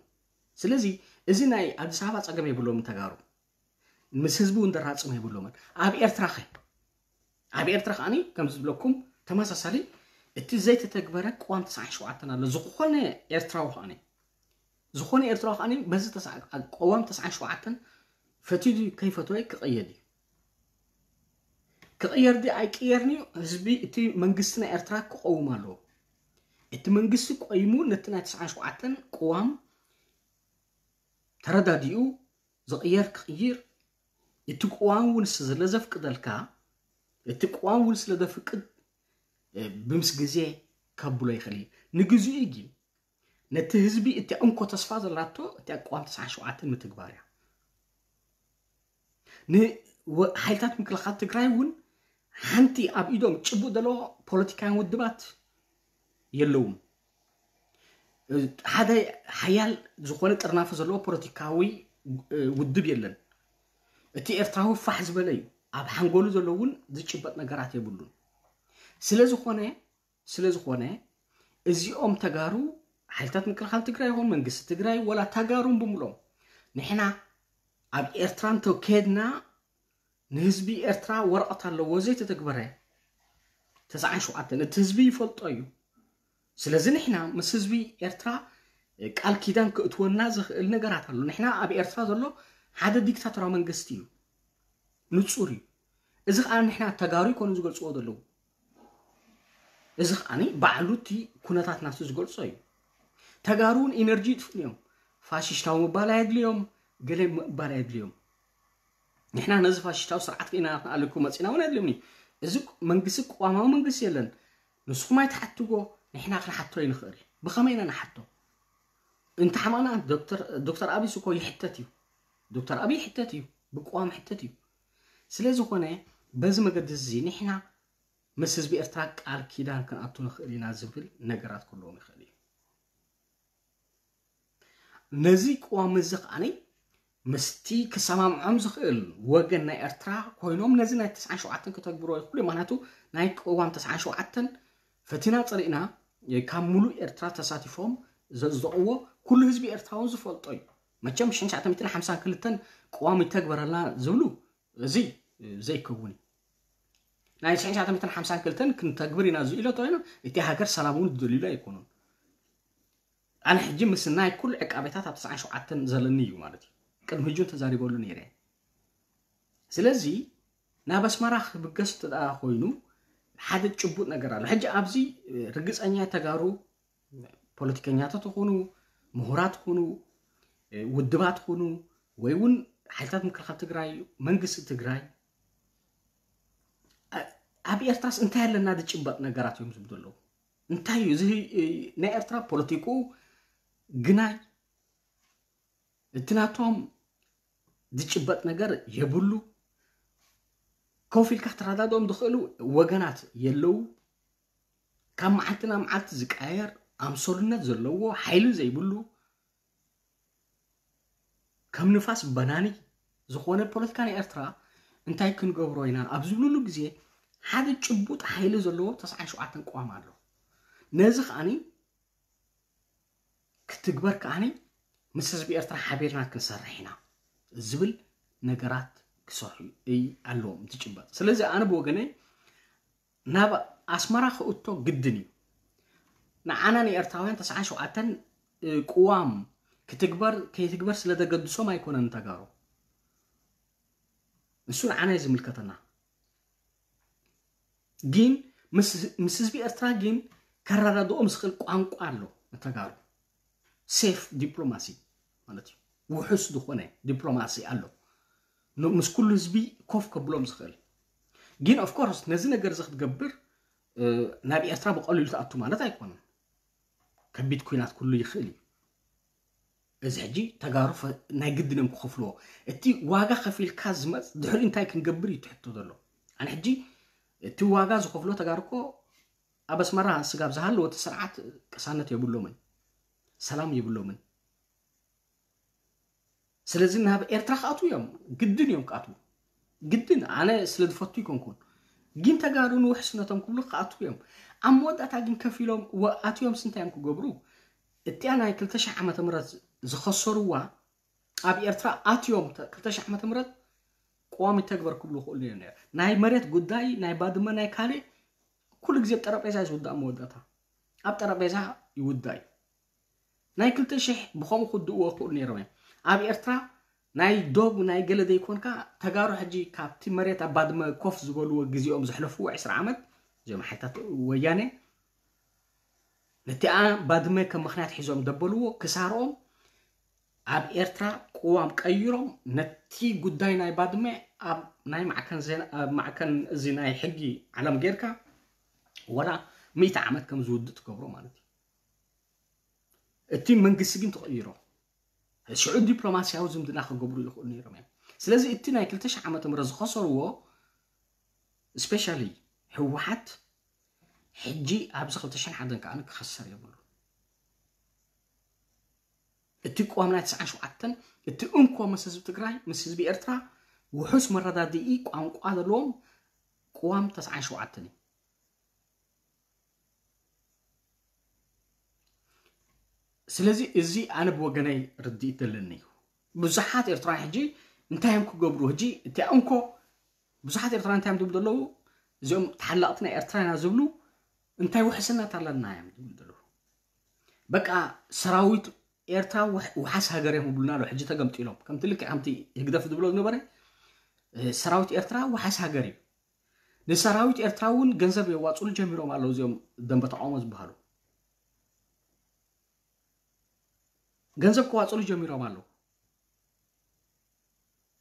ስለዚ እዚ ናይ ኣዲስ ኣበባ ጸገም የብሎምን ተጋሩ። ምስ ህዝቢ እውን ደራጽም የብሎምን። ኣብ ኤርትራ ኸ ኣብ ኤርትራ ከዓኒ ከም ዝብለኩም ተመሳሳሊ እቲ ዘይተተግበረ ቅዋም ተስዓን ሸውዓተን ኣሎ። ዝኾነ ኤርትራዊ ከዓኒ ዝኾነ ኤርትራዊ ከዓኒ በዚ ተስዓ- ቅዋም ተስዓን ሸውዓተን ፈትዩ ድዩ ከይፈተወ ክቕየድ እዩ። ክቕየር ድዩ ኣይቅየርን እዩ ህዝቢ እቲ መንግስቲ ናይ ኤርትራ ክቐውም ኣለዎ። እቲ መንግስቲ ቆይሙ ነቲ ናይ ተስዓን ሸውዓተን ቅዋም ተረዳዲኡ ዝቕየር ክቕይር፣ እቲ ቅዋም እውን ስለ ዘፍቅደልካ፣ እቲ ቅዋም እውን ስለ ዘፍቅድ፣ እ፣ ብምስ ግዜ ከብሎ ይኽእል እዩ። ንግዚኡ ግን ነቲ ህዝቢ እቲ እንኮ ተስፋ ዘላቶ እቲ ቅዋም ተስዓን ሸውዓተን ምትግባር እያ። ንወ- ሓይልታት ምክልኻል ትግራይ እውን ሓንቲ ኣብ ኢዶም ጭቡጥ ዘለዎ ፖለቲካውያን ውድባት የለውም። ሓደ ሓያል ዝኾነ ጥርናፈ ዘለዎ ፖለቲካዊ እ፣ ውድብ የለን። እቲ ኤርትራዊ ፋሕ ዝበለ እዩ። ኣብ ሓንጎሉ ዘሎ እውን ዝጭበጥ ነገራት የብሉን። ስለ ዝኾነ ስለ ዝኾነ እዚኦም ተጋሩ ሓይልታት ምክልኻል ትግራይ ይኹን መንግስቲ ትግራይ ወላ ተጋሩን ብምሎም ንሕና ኣብ ኤርትራ እንተኬድና ንህዝቢ ኤርትራ ወረቐት ኣለዎ ዘይተተግበረ ተስዓን ሸውዓተን እቲ ህዝቢ ይፈልጦ እዩ። ስለዚ ንሕና ምስ ህዝቢ ኤርትራ ቃል ኪዳን ክእትወና ዝኽእል ነገራት ኣሎ። ንሕና ኣብ ኤርትራ ዘሎ ሓደ ዲክታቶራዊ መንግስቲ እዩ፣ ንጹር እዩ። እዚ ከዓ ንሕና ተጋሩ ይኮኑ ዝገልጽዎ ዘለዉ። እዚ ከዓ ባዕሉ እቲ ኩነታት ናቱ ዝገልጾ እዩ። ተጋሩ እውን ኢነርጂ ይጥፍኡን እዮም። ፋሽስታዊ ምባል ኣየድልዮም፣ ገለ ምባል ኣየድልዮም። ንሕና ነዚ ፋሽስታዊ ስርዓት ከኢና ክንኣልኩ መፂና እውን ኣየድልዮም እዩ። እዚ መንግስቲ ቅዋማዊ መንግስቲ የለን። ንስኹም ኣይትሓትዎ፣ ንሕና ክንሓቶ ይንኽእል። ብኸመይ ኢና ንሓቶ? እንተሓመቕና ዶክተር ዶክተር ኣብይ እኮ ይሕተት እዩ። ዶክተር ኣብይ ይሕተት እዩ፣ ብቅዋም ይሕተት እዩ። ስለ ዝኾነ በዚ መገዲ እዚ ንሕና ምስ ህዝቢ ኤርትራ ቃል ኪዳን ክንኣቱ ንኽእል ኢና ዝብል ነገራት ክህልዎም ይኽእል እዩ። ነዚ ቅዋም እዚ ከዓኒ ምስቲ ክሰማምዖም ዝኽእል ወገን ናይ ኤርትራ ኮይኖም ነዚ ናይ ተስዓን ሸውዓተን ክተግብሮ ይኽእሉ እዮም። ምክንያቱ ናይ ቅዋም ተስዓን ሸውዓተን ፈቲና ጸሊእና ካብ ሙሉእ ኤርትራ ተሳቲፎም ዘጽደቕዎ ኩሉ ህዝቢ ኤርትራ እውን ዝፈልጦ እዩ። መቸም ሽሕን ትሽዓተ ሚእትን ሓምሳን ክልተን ቅዋም ይተግበረልና ዝብሉ እዚ ዘይከውን እዩ። ናይ ሽሕን ትሽዓተ ሚእትን ሓምሳን ክልተን ክንተግብር ኢና ዝኢሎ ተኮይኑ እቲ ሃገር ሰላም እውን ዝደልዩሉ ኣይኮኑን። ኣነ ሕጂ ምስ ናይ ኩሉ ዕቃቤታት ኣብ ተስዓን ሸውዓተን ዘለኒ እዩ ማለት እዩ። ቅድሚ ሕጂ እውን ተዛሪበሉ ነይረ። ስለዚ ናብ ኣስመራ ክብገስ እንተ ደኣ ኮይኑ ሓደ ጭቡጥ ነገር ኣሎ። ሕጂ ኣብዚ ርግጸኛ ተጋሩ ፖለቲከኛታት ይኹኑ፣ ምሁራት ይኹኑ፣ ውድባት ይኹኑ፣ ወይ እውን ሓይልታት ምክልኻል ትግራይ፣ መንግስቲ ትግራይ፣ ኣ- ኣብ ኤርትራስ እንታይ ኣለና ዝጭበጥ ነገራት እዮም ዝብሉ ዘለዉ? እንታይ እዩ እዚ? ናይ ኤርትራ ፖለቲኩ ግናይ፣ እቲ ናቶም ዝጭበጥ ነገር የብሉ። ኮፍ ኢልካ ክትረዳድኦም ዝኽእሉ ወገናት የለዉ። ካብ መዓልቲ ናብ መዓልቲ ዝቀያየር፣ ኣምሰሉነት ዘለዎ፣ ሓይሊ ዘይብሉ፣ ከም ንፋስ በናኒ ዝኾነ ፖለቲካ ናይ ኤርትራ እንታይ ክንገብሮ ኢና ኣብ ዝብልሉ ግዜ፣ ሓደ ጭቡጥ ሓይሊ ዘለዎ ተስዓን ሸውዓተን ቅዋም ኣሎ። ነዚ ከዓኒ ክትግበር ከዓኒ ምስ ህዝቢ ኤርትራ ሓቢርና ክንሰርሕ ኢና ዝብል ነገራት ክሰርሑ እይ ኣለዎም ዝጭበጥ። ስለዚ ኣነ ብወገነይ ናብ ኣስመራ ክእቶ ግድን እዩ። ንዓና ንኤርትራውያን ተስዓን ሸውዓተን ቅዋም ክትግበር ከይትግበር ስለ ዘገድሶም ኣይኮነን ተጋሩ። እሱ ንዓና እዩ ዝምልከተና። ግን ምስ ህዝቢ ኤርትራ ግን ከረዳድኦም ዝኽእል ቋንቋ ኣሎ። ንተጋሩ ሴፍ ዲፕሎማሲ ማለት እዩ። ውሑስ ዝኾነ ዲፕሎማሲ ኣሎ። ን-፣ ምስ ኩሉ ህዝቢ ኮፍ ከብሎም ዝኽእል። ግን ኦፍ ኮርስ ነዚ ነገር እዚ ክትገብር፣ እ፣ ናብ ኤርትራ ብቐሊሉ ትኣቱ ማለት ኣይኮነን። ከቢድ ኲናት ኩሉ ይኽእል እዩ። እዚ ሕጂ ተጋሩ ፈ-፣ ናይ ግድን እዮም ክኸፍልዎ። እቲ ዋጋ ከፊልካ ዝመጽ-፣ ድሕሪ እንታይ ክንገብር እዩ ትሕቶ ዘሎ? ኣነ ሕጂ እቲ ዋጋ ዝኸፍሎ ተጋሩ እኮ ኣብ ኣስመራ ስጋብ ዝሃለወ እቲ ስርዓት ቅሳነት የብሎምን፣ ሰላም የብሎምን። ስለዚ ናብ ኤርትራ ክኣትዉ እዮም፣ ግድን እዮም ክኣትዉ። ግድን፣ ኣነ ስለ ዝፈቱ ይኮንኩን። ግን ተጋሩ ንውሕስነቶም ክብሉ ክኣትዉ እዮም። ኣብ መወዳእታ ግን ከፊሎም ወ-፣ ኣትዮም ስንታይ እዮም ክገብሩ? እቲኣ ናይ ክልተ ሽሕ ዓመተ ምህረት ዝኸሰሩዋ፣ ኣብ ኤርትራ ኣትዮም ተ-፣ ክልተ ሽሕ ዓመተ ምህረት ቅዋም ይተግበር ክብሉ ይኽእሉ እዮም ነይሮም። ናይ መሬት ጉዳይ፣ ናይ ባድመ፣ ናይ ካልእ፣ ኩሉ ግዜ ኣብ ጠረጴዛ እዩ ዝውዳእ መወዳእታ። ኣብ ጠረጴዛ ይውዳእ እዩ። ናይ ክልተ ሽሕ ብኸምኡ ክውድእዎ ይኽእሉ ነይሮም እዮም። ኣብ ኤርትራ ናይ ዶብ ናይ ገለ ዘይኮንካ፣ ተጋሩ ሕጂ ካብቲ መሬት ኣብ ባድመ ኮፍ ዝበልዎ ግዜኦም ዘሕለፍዎ ዕስራ ዓመት፣ እዚኦም ሓይልታት ወያነ፣ ነቲኣ ባድመ ከም ምኽንያት ሒዞም ደበልዎ ክሳርኦም፣ ኣብ ኤርትራ ቅዋም ቀይሮም ነቲ ጉዳይ ናይ ባድመ ኣብ ናይ ማዕከን ዜና፣ ኣብ ማዕከን እዚ ናይ ሕጊ ዓለም ጌርካ ወላ ሚእቲ ዓመት ከም ዝውድእ ትገብሮ ማለት እዩ። እቲ መንግስቲ ግን ተቐይሮ። ሽዑ ዲፕሎማስያዊ ዝምድና ክገብሩ ይኽእሉ ነይሮም እዮም። ስለዚ እቲ ናይ ክልተ ሽሕ ዓመተ ምህረት ዝኸሰርዎ፣ ስፔሻሊ ህወሓት፣ ሕጂ ኣብዚ ክልተ ሽሕን ሓደን ከኣ ክኸሰር የብሉ። እቲ ቅዋም ናይ ተስዓን ሸውዓተን፣ እቲ እንኮ ምስ ህዝቢ ትግራይ፣ ምስ ህዝቢ ኤርትራ ውሑስ መረዳድኢ ቋንቋ ዘለዎም ቅዋም ተስዓን ሸውዓተን እዩ። ስለዚ እዚ ኣነ ብወገነይ ርድኢት ዘለኒ እዩ። ብዙሓት ኤርትራውያን ሕጂ እንታይ እዮም ክገብሩ? ሕጂ እቲኣ እንኮ ብዙሓት ኤርትራውያን እንታይ እዮም ዝብሉ ዘለዉ? እዚኦም ተሓለቕቲ ናይ ኤርትራ ኢና ዝብሉ እንታይ ውሕስነት ኣለና እዮም ዝብሉ ዘለዉ። በቃ ሰራዊት ኤርትራ ውሕ-፣ ውሓስ ሃገር እዮም ይብሉና ኣለዉ። ሕጂ ተገምጢሎም። ከምቲ ልክዕ ከምቲ ህግደፍ ዝብሎ ዝነበረ፣ እ፣ ሰራዊት ኤርትራ ውሓስ ሃገር እዩ። ንሰራዊት ኤርትራ እውን ገንዘብ የዋፅሉ ጀሚሮም ኣለዉ እዚኦም ደንበ ተቃውሞ ዝበሃሉ። ገንዘብ ከዋፅሉ ጀሚሮም ኣለዉ።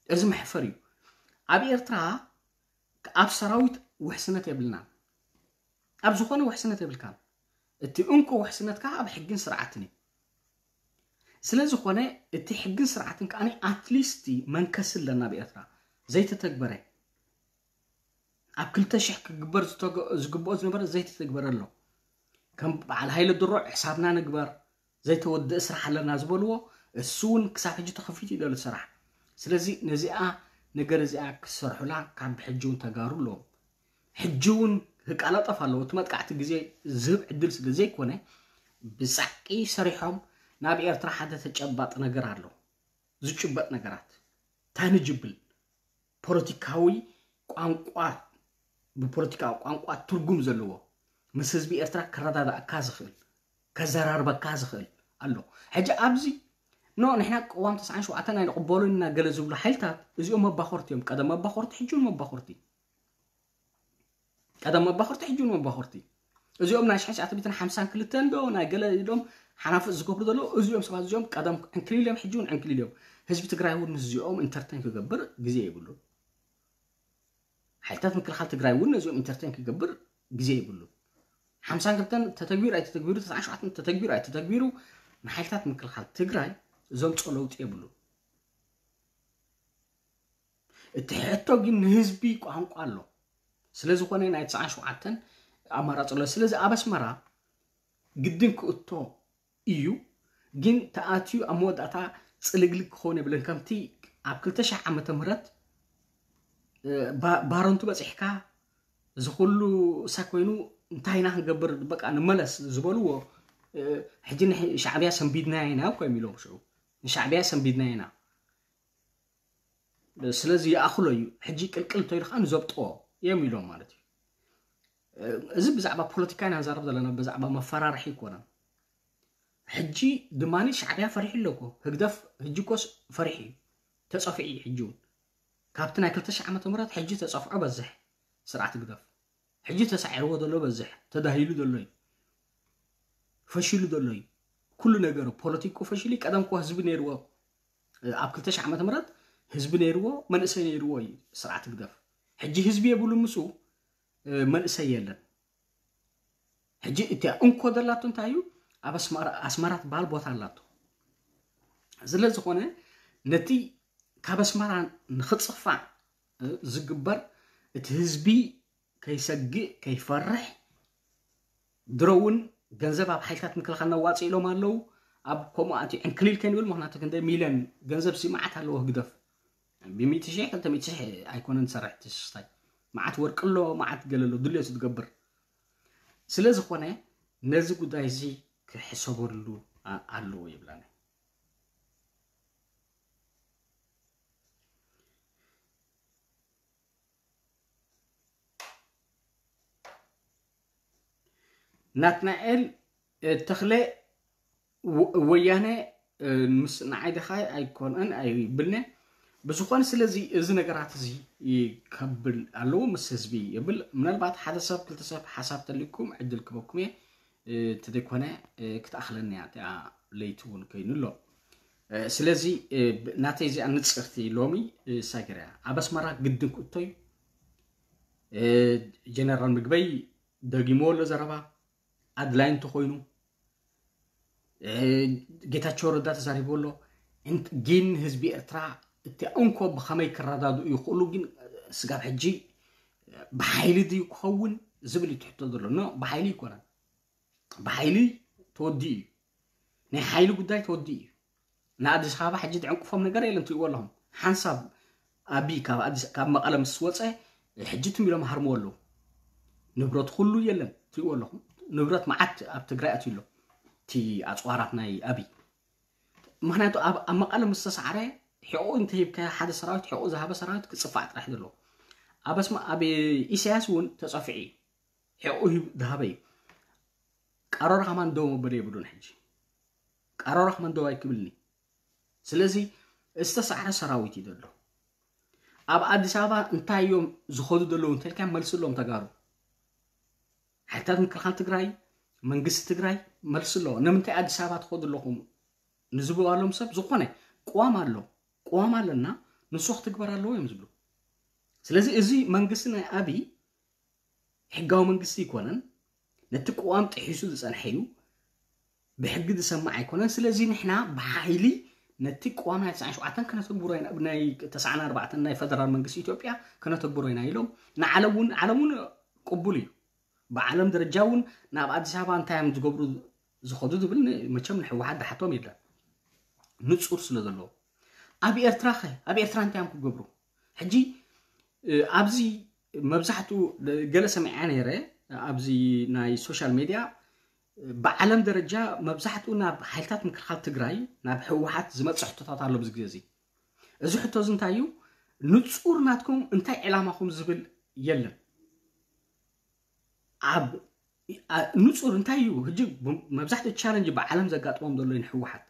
እዚ መሕፈር እዩ። ኣብ ኤርትራ ኣብ ሰራዊት ውሕስነት የብልናን። ኣብ ዝኾነ ውሕስነት የብልካን። እቲ እንኮ ውሕስነትካ ኣብ ሕግን ስርዓትን እዩ። ስለ ዝኾነ እቲ ሕግን ስርዓትን ከኣ ኣትሊስት መንከሲ ኣለና ኣብ ኤርትራ ዘይተተግበረ። ኣብ ክልተ ሽሕ ክግበር ዝተገ-፣ ዝግብኦ ዝነበረ ዘይተተግበረ ኣሎ። ከም በዓል ሃይለ ድሮ ሕሳብና ንግበር፣ ዘይተወድአ ስራሕ ኣለና ዝበልዎ፣ እሱ እውን ክሳብ ሕጂ ተኸፊቱ እዩ ዘሎ ስራሕ። ስለዚ ነዚኣ ነገር እዚኣ ክሰርሑላ ካብ ሕጂ እውን ተጋሩ ኣለዎም። ሕጂ እውን ክቀላጠፍ ኣለዎ። እቲ መጥቃዕቲ ግዜ ዝህብ ዕድል ስለ ዘይኮነ ብጻዕቂ ሰሪሖም ናብ ኤርትራ ሓደ ተጨባጥ ነገር ኣሎ። ዝጭበጥ ነገራት፣ ታንጅብል ፖለቲካዊ ቋንቋ፣ ብፖለቲካዊ ቋንቋ ትርጉም ዘለዎ፣ ምስ ህዝቢ ኤርትራ ከረዳድኣካ ዝኽእል፣ ከዘራርበካ ዝኽእል ኣሎ። ሕጂ ኣብዚ ኖ ንሕና ቅዋም ተስዓን ሸውዓተን ኣይንቕበሎን ኢና ገለ ዝብሉ ሓይልታት እዚኦም መባኾርቲ እዮም። ቀደም መባኾርቲ፣ ሕጂ እውን መባኾርቲ። ቀደም መባኾርቲ፣ ሕጂ እውን መባኾርቲ። እዚኦም ናይ ሽሕን ትሽዓተ ሚእትን ሓምሳን ክልተን ዶ ናይ ገለ ኢሎም ሓናፍጥ ዝገብሩ ዘለዉ እዚኦም ሰባት እዚኦም ቀደም ዕንክሊል እዮም፣ ሕጂ እውን ዕንክሊል እዮም። ህዝቢ ትግራይ እውን ምስዚኦም ኢንተርቴን ክገብር ግዜ የብሉን። ሓይልታት ምክልኻል ትግራይ እውን ነዚኦም ኢንተርቴን ክገብር ግዜ የብሉን። ሓምሳን ክልተን ተተግቢሩ ኣይተተግቢሩ፣ ተስዓን ሸውዓተን ተተግቢሩ ኣይተተግቢሩ፣ ንሓይልታት ምክልኻል ትግራይ ዘምፅኦ ለውጢ የብሉን። እቲ ሕቶ ግን ንህዝቢ ቋንቋ ኣሎ። ስለ ዝኾነ ናይ ተስዓን ሸውዓተን ኣማራፂ ኣሎ። ስለዚ ኣብ ኣስመራ ግድን ክእቶ እዩ። ግን ተኣትዩ ኣብ መወዳእታ ፅልግልግ ክኸውን የብልን። ከምቲ ኣብ ክልተ ሺሕ ዓመተ ምህረት፣ እ፣ ባ-፣ ባረንቱ በፂሕካ፣ እዚ ኩሉ እሳ ኮይኑ እንታይ ኢና ክንገብር፣ በቃ ንመለስ ዝበልዎ፣ እ፣ ሕጂ ንሕ-፣ ሻዕብያ ሰንቢድናዮ ኢና እኮ እዮም ኢሎም ሽዑ። ንሻዕብያ ሰንቢድናዮ ኢና። ስለዚ ይኣኽሎ እዩ። ሕጂ ቅልቅል እንተኢሉ ከዓ ንዘብጥዎ እዮም ኢሎም ማለት እዩ። እ፣ እዚ ብዛዕባ ፖለቲካ ኢና ንዛረብ ዘለና፣ ብዛዕባ መፈራርሒ ኣይኮነን። ሕጂ ድማ ሻዕብያ ፈሪሑ ኣሎ እኮ። ህግደፍ ሕጂ እኮስ ፈሪሑ እዩ። ተጸፊዑ እዩ ሕጂ እውን። ካብቲ ናይ ክልተ ሺሕ ዓመተ ምህረት ሕጂ ተጸፍዖ በዝሕ ስርዓት ህግደፍ። ሕጂ ተሳዒርዎ ዘሎ በዝሕ፣ ተዳሂሉ ዘሎ እዩ። ፈሺሉ ዘሎ እዩ። ኩሉ ነገሩ ፖለቲኩ ፈሺሉ እዩ። ቀደም እኮ ህዝቢ ነይርዎ። ኣብ ክልተ ሺሕ ዓመተ ምህረት ህዝቢ ነይርዎ፣ መንእሰይ ነይርዎ እዩ ስርዓት ህግደፍ። ሕጂ ህዝቢ የብሉን ምስኡ፣ እ፣ መንእሰይ የለን። ሕጂ እቲኣ እንኮ ዘላቶ እንታይ እዩ? ኣብ ኣስመራ፣ ኣስመራ ትበሃል ቦታ ኣላቶ። ስለ ዝኾነ ነቲ ካብ ኣስመራ ንኽጽፋዕ፣ እ፣ ዝግበር፣ እቲ ህዝቢ ከይሰግእ፣ ከይፈርሕ፣ ድሮ እውን ገንዘብ ኣብ ሓይልታት ምክልኻል ነዋፅእ ኢሎም ኣለዉ። ኣብ ከምኡ ኣትዩ ዕንክሊል ከይንብል፣ ምኽንያቱ ክንደይ ሚልዮን ገንዘብ ሲ መዓት ኣለዎ ህግደፍ። ብሚእቲ ሺሕ፣ ክልተ ሚእቲ ሺሕ ኣይኮነን ዝሰርሕ እቲ ስስታይ። መዓት ወርቂ ኣሎ፣ መዓት ገለ ኣሎ፣ ድልዮ ዝገብር። ስለ ዝኾነ ነዚ ጉዳይ እዚ ክሕሰበሉ ኣ-፣ ኣለዎ ይብላኒ። ናትናኤል፣ እ፣ ተኽለ፣ ወ-፣ ወያነ፣ እ፣ ምስ ንዓይ ደኻ ኣይኮነን ኣይብልነ። ብዝኾነ ስለዚ እዚ ነገራት እዚ ከብል ኣለዎ ምስ ህዝቢ ይብል። ምናልባት ሓደ ሰብ ክልተ ሰብ ሓሳብ ተልኩም ዕድል ክበኩም እየ። እ፣ እንተዘይኮነ፣ እ፣ ክትኣኽለኒ እያ እቲኣ ለይቲ እውን ኮይኑ ኣሎ። እ፣ ስለዚ፣ እ፣ ብ-፣ ናተይ እዚኣ ንጽርቲ ሎሚ፣ እ፣ ሳገርያ ኣብ ኣስመራ ግድን ክእቶ እዩ። እ፣ ጀነራል ምግበይ ደጊሞ ኣሎ ዘረባ ኣድላይ እንተኾይኑ፣ እ፣ ጌታቸው ረዳ ተዛሪቡ ኣሎ። እንት-፣ ግን ህዝቢ ኤርትራ እቲ እንኮ ብኸመይ ክረዳድኡ ይኽእሉ፣ ግን ስጋብ ሕጂ ብሓይሊ ድዩ ክኸውን ዝብል እዩ ትሕቶ ዘሎ። ኖ፣ ብሓይሊ ይኮነን። ብሓይሊ ተወዲኡ እዩ። ናይ ሓይሊ ጉዳይ ተወዲኡ እዩ። ንኣዲስ ኣበባ ሕጂ ዝዕንቅፎም ነገር የለን፣ ትሪእዎ ኣለኹም። ሓንሳብ ኣቢ ካብ ኣዲስ፣ ካብ መቐለ ምስ ወፀ፣ ሕጂ ትም ኢሎም ሃርምዎ ኣለዉ። ንብረት ኩሉ የለን፣ ትሪእዎ ኣለኹም። ንብረት መዓት ኣብ ትግራይ ኣትዩ ኣሎ፣ እቲ ኣፅዋራት ናይ ኣቢ። ምኽንያቱ ኣብ፣ ኣብ መቐለ ምስ ተሳዕረ፣ ሕቑ እንተሂብካዮ ሓደ ሰራዊት፣ ሕቑ ዝሃበ ሰራዊት ክፅፋዕ ጥራሕ ዘሎ። ኣብ ኣስመ-፣ ኣብ ኢሳያስ እውን ተፀፊዑ እዩ። ሕቑ ሂብ-፣ ዝሃበ እዩ። ቀሮራ ከማን ደው መበሊ የብሉን ሕጂ። ቀሮራ ከማን ደው ኣይክብልኒ። ስለዚ ዝተሳዕረ ሰራዊት እዩ ዘሎ። ኣብ ኣዲስ ኣበባ እንታይ እዮም ዝኸዱ ዘለዉ እንተልካ መልስሎም ተጋሩ። ሓይልታት ምክልኻል ትግራይ፣ መንግስቲ ትግራይ መልስሎ። ንምንታይ ኣዲስ ኣበባ ትኸዱ ኣለኹም ንዝበሃሎም ሰብ ዝኾነ ቅዋም ኣሎ። ቅዋም ኣለና፣ ንሱ ክትግበር ኣለዎ እዮም ዝብሉ። ስለዚ እዚ መንግስቲ ናይ ኣብይ ሕጋዊ መንግስቲ ኣይኮነን። ነቲ ቅዋም ጥሒሱ ዝጸንሐ እዩ። ብሕጊ ዝሰማዕ ኣይኮነን። ስለዚ ንሕና ብሓይሊ ነቲ ቅዋም ናይ ተስዓን ሸውዓተን ከነተግብሮ ኢና፣ ናይ ተስዓን ኣርባዕተን ናይ ፈደራል መንግስቲ ኢትዮጵያ ከነተግብሮ ኢና ኢሎም ንዓለም እውን፣ ዓለም እውን ቅቡል እዩ። ብዓለም ደረጃ እውን ናብ ኣዲስ ኣበባ እንታይ እዮም ዝገብሩ ዝኸዱ ዝብል ን-፣ መቸም ንህወሓት ዝሓቶም የለን። ንጹር ስለ ዘለዎ። ኣብ ኤርትራ ኸ? ኣብ ኤርትራ እንታይ እዮም ክገብሩ? ሕጂ፣ እ፣ ኣብዚ መብዛሕትኡ ገለ ሰሚዐ ነይረ፣ ኣብዚ ናይ ሶሻል ሜድያ፣ ብዓለም ደረጃ መብዛሕትኡ ናብ ሓይልታት ምክልኻል ትግራይ፣ ናብ ህወሓት ዝመጽእ ሕቶታት ኣሎ ኣብዚ ግዜ እዚ። እዚ ሕቶ እዚ እንታይ እዩ? ንጹር ናትኩም እንታይ ዕላማኹም ዝብል የለን። ኣብ፣ ኣ-፣ ንጹር እንታይ እዩ? ሕጂ ብ-፣ መብዛሕትኡ ቻለንጅ ብዓለም ዘጋጥሞም ዘሎ እዩ ንህወሓት።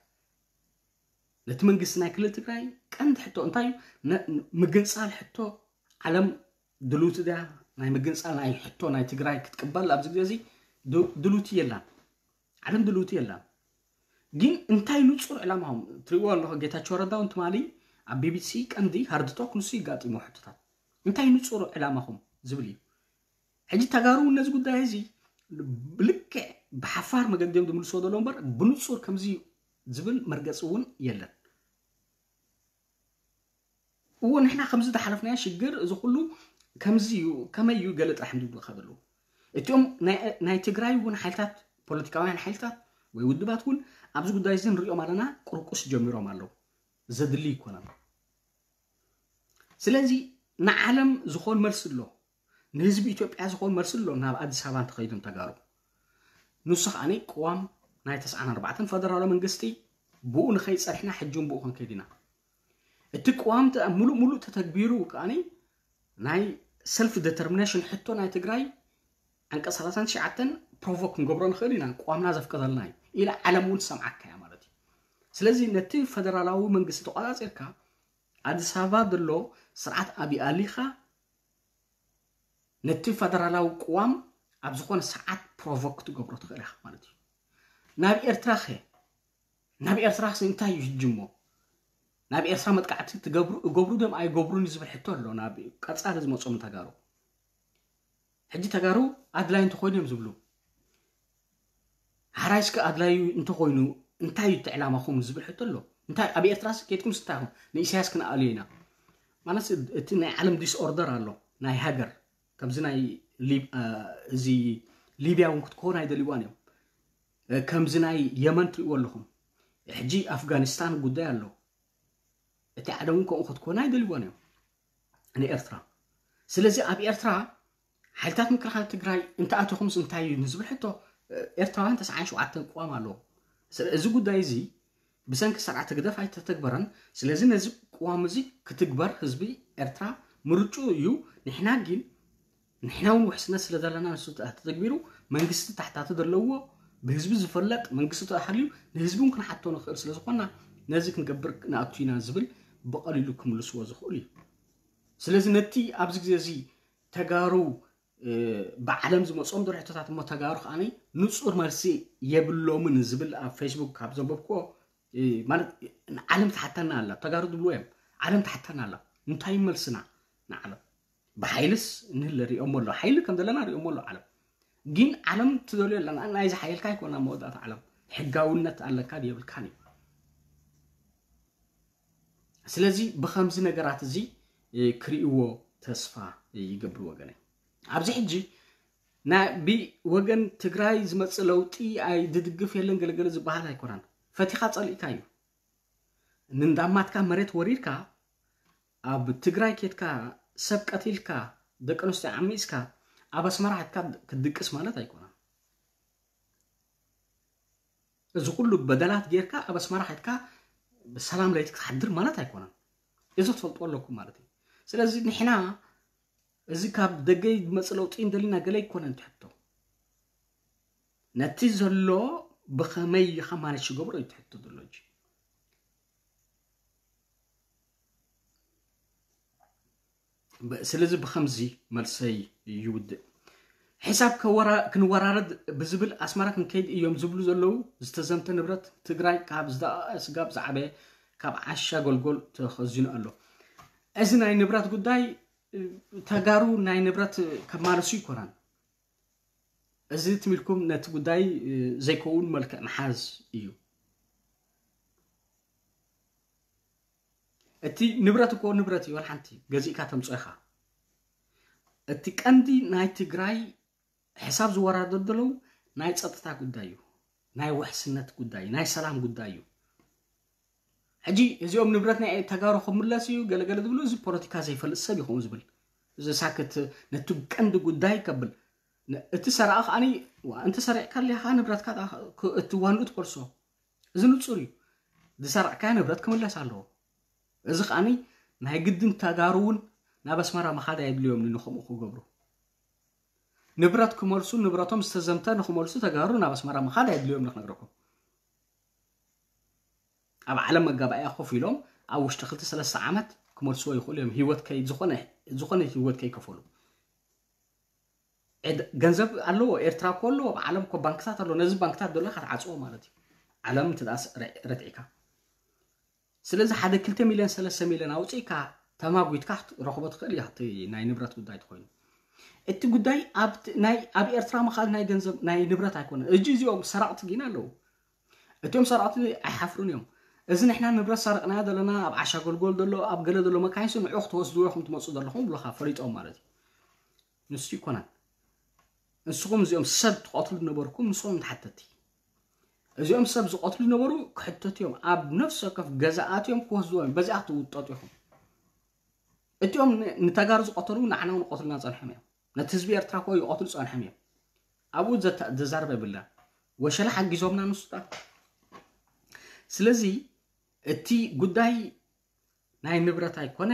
ነቲ መንግስቲ ናይ ክልል ትግራይ ቀንዲ ሕቶ እንታይ እዩ? ነ-፣ ምግንጻል ሕቶ ዓለም ድልውቲ ድያ? ናይ ምግንጻል ናይ ሕቶ ናይ ትግራይ ክትቅበል ኣብዚ ግዜ እዚ ድ-፣ ድልውቲ የላን። ዓለም ድልውቲ የላን። ግን እንታይ ንጹር ዕላማኹም? ትሪእዎ ኣለኹ፣ ጌታቸው ረዳ እውን ትማሊ ኣብ ቢ ቢ ሲ ቀንዲ ሃርድ ቶክ ንሱ ይጋጥሞ ሕቶታት። እንታይ ንጹር ዕላማኹም ዝብል እዩ። ሕጂ ተጋሩ እውን ነዚ ጉዳይ እዚ ብልክዕ ብሓፋር መገዲ እዮም ዝምልስዎ ዘለዉ እምበር ብንጹር ከምዚ ዝብል መርገፂ እውን የለን። እዎ ንሕና ከምዚ ዝሓለፍናዮ ሽግር እዚ ኩሉ ከምዚ እዩ፣ ከመይ እዩ ገለ ጥራሕ ምድብልካ ዘለዉ። እቲኦም ናይ ትግራይ እውን ሓይልታት፣ ፖለቲካውያን ሓይልታት ወይ ውድባት እውን ኣብዚ ጉዳይ እዚ ንሪኦም ኣለና፣ ቅርቁስ ጀሚሮም ኣለዉ። ዘድሊ ይኮነን። ስለዚ ንዓለም ዝኾን መልሲ ኣሎ፣ ንህዝቢ ኢትዮጵያ ዝኾን መልሲ ኣሎ። ናብ ኣዲስ ኣበባ እንተኸይዶም ተጋሩ፣ ንሱ ከዓኒ ቅዋም ናይ ተስዓን ኣርባዕተን ፈደራላዊ መንግስቲ ብኡ ንኸይድ ጸኒሕና፣ ሕጂ እውን ብኡ ክንከይድ ኢና። እቲ ቅዋም ተ-፣ ሙሉእ ሙሉእ ተተግቢሩ ከዓኒ ናይ ሰልፍ ዲተርሚኔሽን ሕቶ ናይ ትግራይ ዓንቀፅ ሰላሳን ትሽዓተን ፕሮቮክ ክንገብሮ ንኽእል ኢና፣ ቅዋምና ዘፍቀደልና እዩ ኢላ ዓለም እውን ትሰምዓካ እያ ማለት እዩ። ስለዚ ነቲ ፈደራላዊ መንግስቲ ተቆፃፂርካ ኣዲስ ኣበባ ዘሎ ስርዓት ኣብይ ኣሊኻ ነቲ ፈደራላዊ ቅዋም ኣብ ዝኾነ ሰዓት ፕሮቮክ ክትገብሮ ትኽእል ኢኻ ማለት እዩ። ናብ ኤርትራ ኸ ናብ ኤርትራ ኸ እንታይ እዩ ሕጂ እሞ? ናብ ኤርትራ መጥቃዕቲ ትገብሩ እገብሩ ደም ኣይገብሩን እዩ ዝብል ሕቶ ኣሎ ናብ ቀጻሊ ዝመጾም ተጋሩ። ሕጂ ተጋሩ ኣድላይ እንተኾይኑ እዮም ዝብሉ። ሓራይ እስከ ኣድላዩ እንተኾይኑ እንታይ እዩ እቲ ዕላማኹም ዝብል ሕቶ ኣሎ። እንታይ ኣብ ኤርትራስ ኬድኩም ስታኹም ንኢሳያስ ክንኣልዮ ኢና ማለት እቲ ናይ ዓለም ዲስኦርደር ኣሎ ናይ ሃገር ከምዚ ናይ ሊብ-፣ እ፣ እዚ ሊብያ እውን ክትከውን ኣይደልይዋን እዮም። እ፣ ከምዚ ናይ የመን ትሪእዎ ኣለኹም። ሕጂ ኣፍጋኒስታን ጉዳይ ኣሎ። እቲ ዓለም እውን ከምኡ ክትኮን ኣይደልይዋን እዮም ንኤርትራ። ስለዚ ኣብ ኤርትራ ሓይልታት ምክልኻል ትግራይ እንተኣተኹምስ እንታይ እዩ ንዝብል ሕቶ፣ እ፣ ኤርትራውያን ተስዓን ሸውዓተን ቅዋም ኣለዎ። ስለ-፣ እዚ ጉዳይ እዚ ብሰንኪ ስርዓት ህግደፍ ኣይተተግበረን። ስለዚ ነዚ ቅዋም እዚ ክትግበር ህዝቢ ኤርትራ ምርጭኡ እዩ። ንሕና ግን ንሕና እውን ውሕስነት ስለ ዘለና ንሱ ተተግቢሩ መንግስቲ ታሕታቲ ዘለዎ ብህዝቢ ዝፈለጥ መንግስቲ ተሃልዩ ንህዝቢ እውን ክንሓቶ ንኽእል ስለ ዝኾንና ነዚ ክንገብር ንኣቱ ኢና ዝብል ብቐሊሉ ክምልስዎ ዝኽእሉ እዩ። ስለዚ ነቲ ኣብዚ ግዜ እዚ ተጋሩ፣ እ፣ ብዓለም ዝመጾም ድርሕቶታት እሞ ተጋሩ ከዓኒ ንጹር መልሲ የብሎምን ዝብል ኣብ ፌስቡክ ካብ ዘንበብክዎ፣ እ፣ ማለት ዓለም ትሓተና ኣላ። ተጋሩ ዝብልዎ እዮም። ዓለም ትሓተና ኣላ። እንታይ እዩ መልስና ንዓለም? ብሓይልስ ንህለ ሪኦሞ ኣሎ። ሓይሊ ከም ዘለና ሪኦሞ ኣሎ ዓለም። ግን ዓለም ትደልዮ ኣለና። ናይዚ ሓይልካ ኣይኮና መወዳእታ ዓለም። ሕጋውነት ኣለካ ድዩ የብልካን እዩ። ስለዚ ብኸምዚ ነገራት እዚ፣ እ፣ ክርእይዎ ተስፋ ይገብር ወገነይ። ኣብዚ ሕጂ ናይ ብወገን ትግራይ ዝመጽእ ለውጢ ኣይ ድድግፍ የለን ገለገለ ዝበሃል ኣይኮነን። ፈቲኻ ጸሊእካ እዩ። ንንዳማትካ መሬት ወሪድካ ኣብ ትግራይ ኬድካ ሰብ ቀቲልካ ደቂ ኣንስትዮ ዓሚስካ ኣብ ኣስመራ ኬድካ ክትድቅስ ማለት ኣይኮነን። እዚ ኩሉ በደላት ጌርካ ኣብ ኣስመራ ኬድካ ብሰላም ለይቲ ክትሓድር ማለት ኣይኮነን። እዚ ክትፈልጥዎ ኣለኩም ማለት እዩ። ስለዚ ንሕና እዚ ካብ ደገ ዝመጽእ ለውጢ እንደሊና ገለ ኣይኮነን ትሕቶ። ነቲ ዘሎ ብኸመይ ኢኻ ማኔጅ ትገብሮ እዩ ትሕቶ ዘሎ እንጂ። ብ-፣ ስለዚ ብኸምዚ መልሰይ ይውድእ። ሕሳብ ከወራ-፣ ክንወራረድ ብዝብል ኣስመራ ክንከይድ እዮም ዝብሉ ዘለዉ። ዝተዘምተ ንብረት ትግራይ ካብ ዝደቐቐ ስጋብ ዝዓበየ ካብ ዓሻ ጎልጎል ተኸዚኑ ኣሎ። እዚ ናይ ንብረት ጉዳይ፣ እ፣ ተጋሩ ናይ ንብረት ከማልሱ ይኮናን። እዚ ትም ኢልኩም ነቲ ጉዳይ፣ እ፣ ዘይከውን መልክዕ ምሓዝ እዩ። እቲ ንብረት እኮ ንብረት እዩ፣ ዋላ ሓንቲ ገዚእካ ተምፅኦ ኢኻ። እቲ ቀንዲ ናይ ትግራይ ሕሳብ ዝወራደር ዘለዉ ናይ ፀጥታ ጉዳይ እዩ፣ ናይ ውሕስነት ጉዳይ፣ ናይ ሰላም ጉዳይ እዩ። ሕጂ እዚኦም ንብረት ናይ ተጋሩ ክምለስ እዩ ገለገለ ዝብሉ፣ እዚ ፖለቲካ ዘይፈልጥ ሰብ ይኸውን ዝብል፣ እዚ ሳክት ነቲ ቀንዲ ጉዳይ ከብል፣ ነ-፣ እቲ ሰራቒ ከዓኒ፣ ዋ፣ እንተ ሰሪቕካ ኣሊኻ ንብረትካ ዳ-፣ ክ-፣ እቲ ዋንኡ ትኮልሶ። እዚ ንጹር እዩ። ዝሰራቕካዮ ንብረት ክምለስ ኣለዎ። እዚ ከዓኒ ናይ ግድን ተጋሩ እውን ናብ ኣስመራ ምኻድ ኣየድልዮም ንኸምኡ ክገብሩ። ንብረት ክመልሱ፣ ንብረቶም ዝተዘምተ ንክመልሱ ተጋሩ ናብ ኣስመራ ምኻድ ኣየድልዮም ንክነግረኩም። ኣብ ዓለም መጋባእያ ኮፍ ኢሎም ኣብ ውሽጢ ክልተ ሰለስተ ዓመት ክመልስዎ ይኽእሉ እዮም። ህይወት ከይ-፣ ዝኾነ፣ ዝኾነ ህይወት ከይከፈሉ። ዕድ-፣ ገንዘብ ኣለዎ፣ ኤርትራ እኮ ኣለዎ፣ ኣብ ዓለም እኮ ባንክታት ኣለዎ። ነዚ ባንክታት ዘሎ ኢኻ ትዓጽዎ ማለት እዩ። ዓለም እንተ ደኣ ስ-፣ ረ-፣ ረትዒካ። ስለዚ ሓደ ክልተ ሚልዮን፣ ሰለስተ ሚልዮን ኣውጺእካ ተማጒትካ ክትረኽቦ ትኽእል ኢኻ፣ እቲ ናይ ንብረት ጉዳይ ተኾይኑ። እቲ ጉዳይ ኣብ ናይ ኣብ ኤርትራ ምኻድ ናይ ገንዘብ ናይ ንብረት ኣይኮነን። እጂ እዚኦም ሰራቕቲ ግን ኣለዉ። እቲኦም ሰራቕቲ ኣይሓፍሩን እዮም። እዚ ንሕና ንብረት ሰረቕናዮ ዘለና ኣብ ዓሻ ጎልጎል ዘሎ ኣብ ገለ ዘሎ መካይንሲ ንዑ ክትወስድዎ ኢኹም ትመፁ ዘለኹም ብሎኻ ፈሊጦም ማለት እዩ። ንሱ ይኮናን። ንስኹም እዚኦም ሰብ ትቐትሉ ዝነበርኩም ንስኹም ተሓተቲ። እዚኦም ሰብ ዝቐትሉ ዝነበሩ ክሕተቱ እዮም። ኣብ ነፍሲ ወከፍ ገዛኣት እዮም ክወስድዎ እዮም። በዚኣ ክትውጠጡ ኢኹም። እቲኦም ን- ንተጋሩ ዝቐተሉ ንዓና እውን ቀትሉና ጸንሖም እዮም። ነቲ ህዝቢ ኤርትራ እኮ ይቐትሉ ጸንሖም እዮም። ኣብኡ ዘተ- ዘዛርብ የብልና። ወሸላ ሓጊዞምና ንሱታት። ስለዚ እቲ ጉዳይ ናይ ንብረት ኣይኮነ፣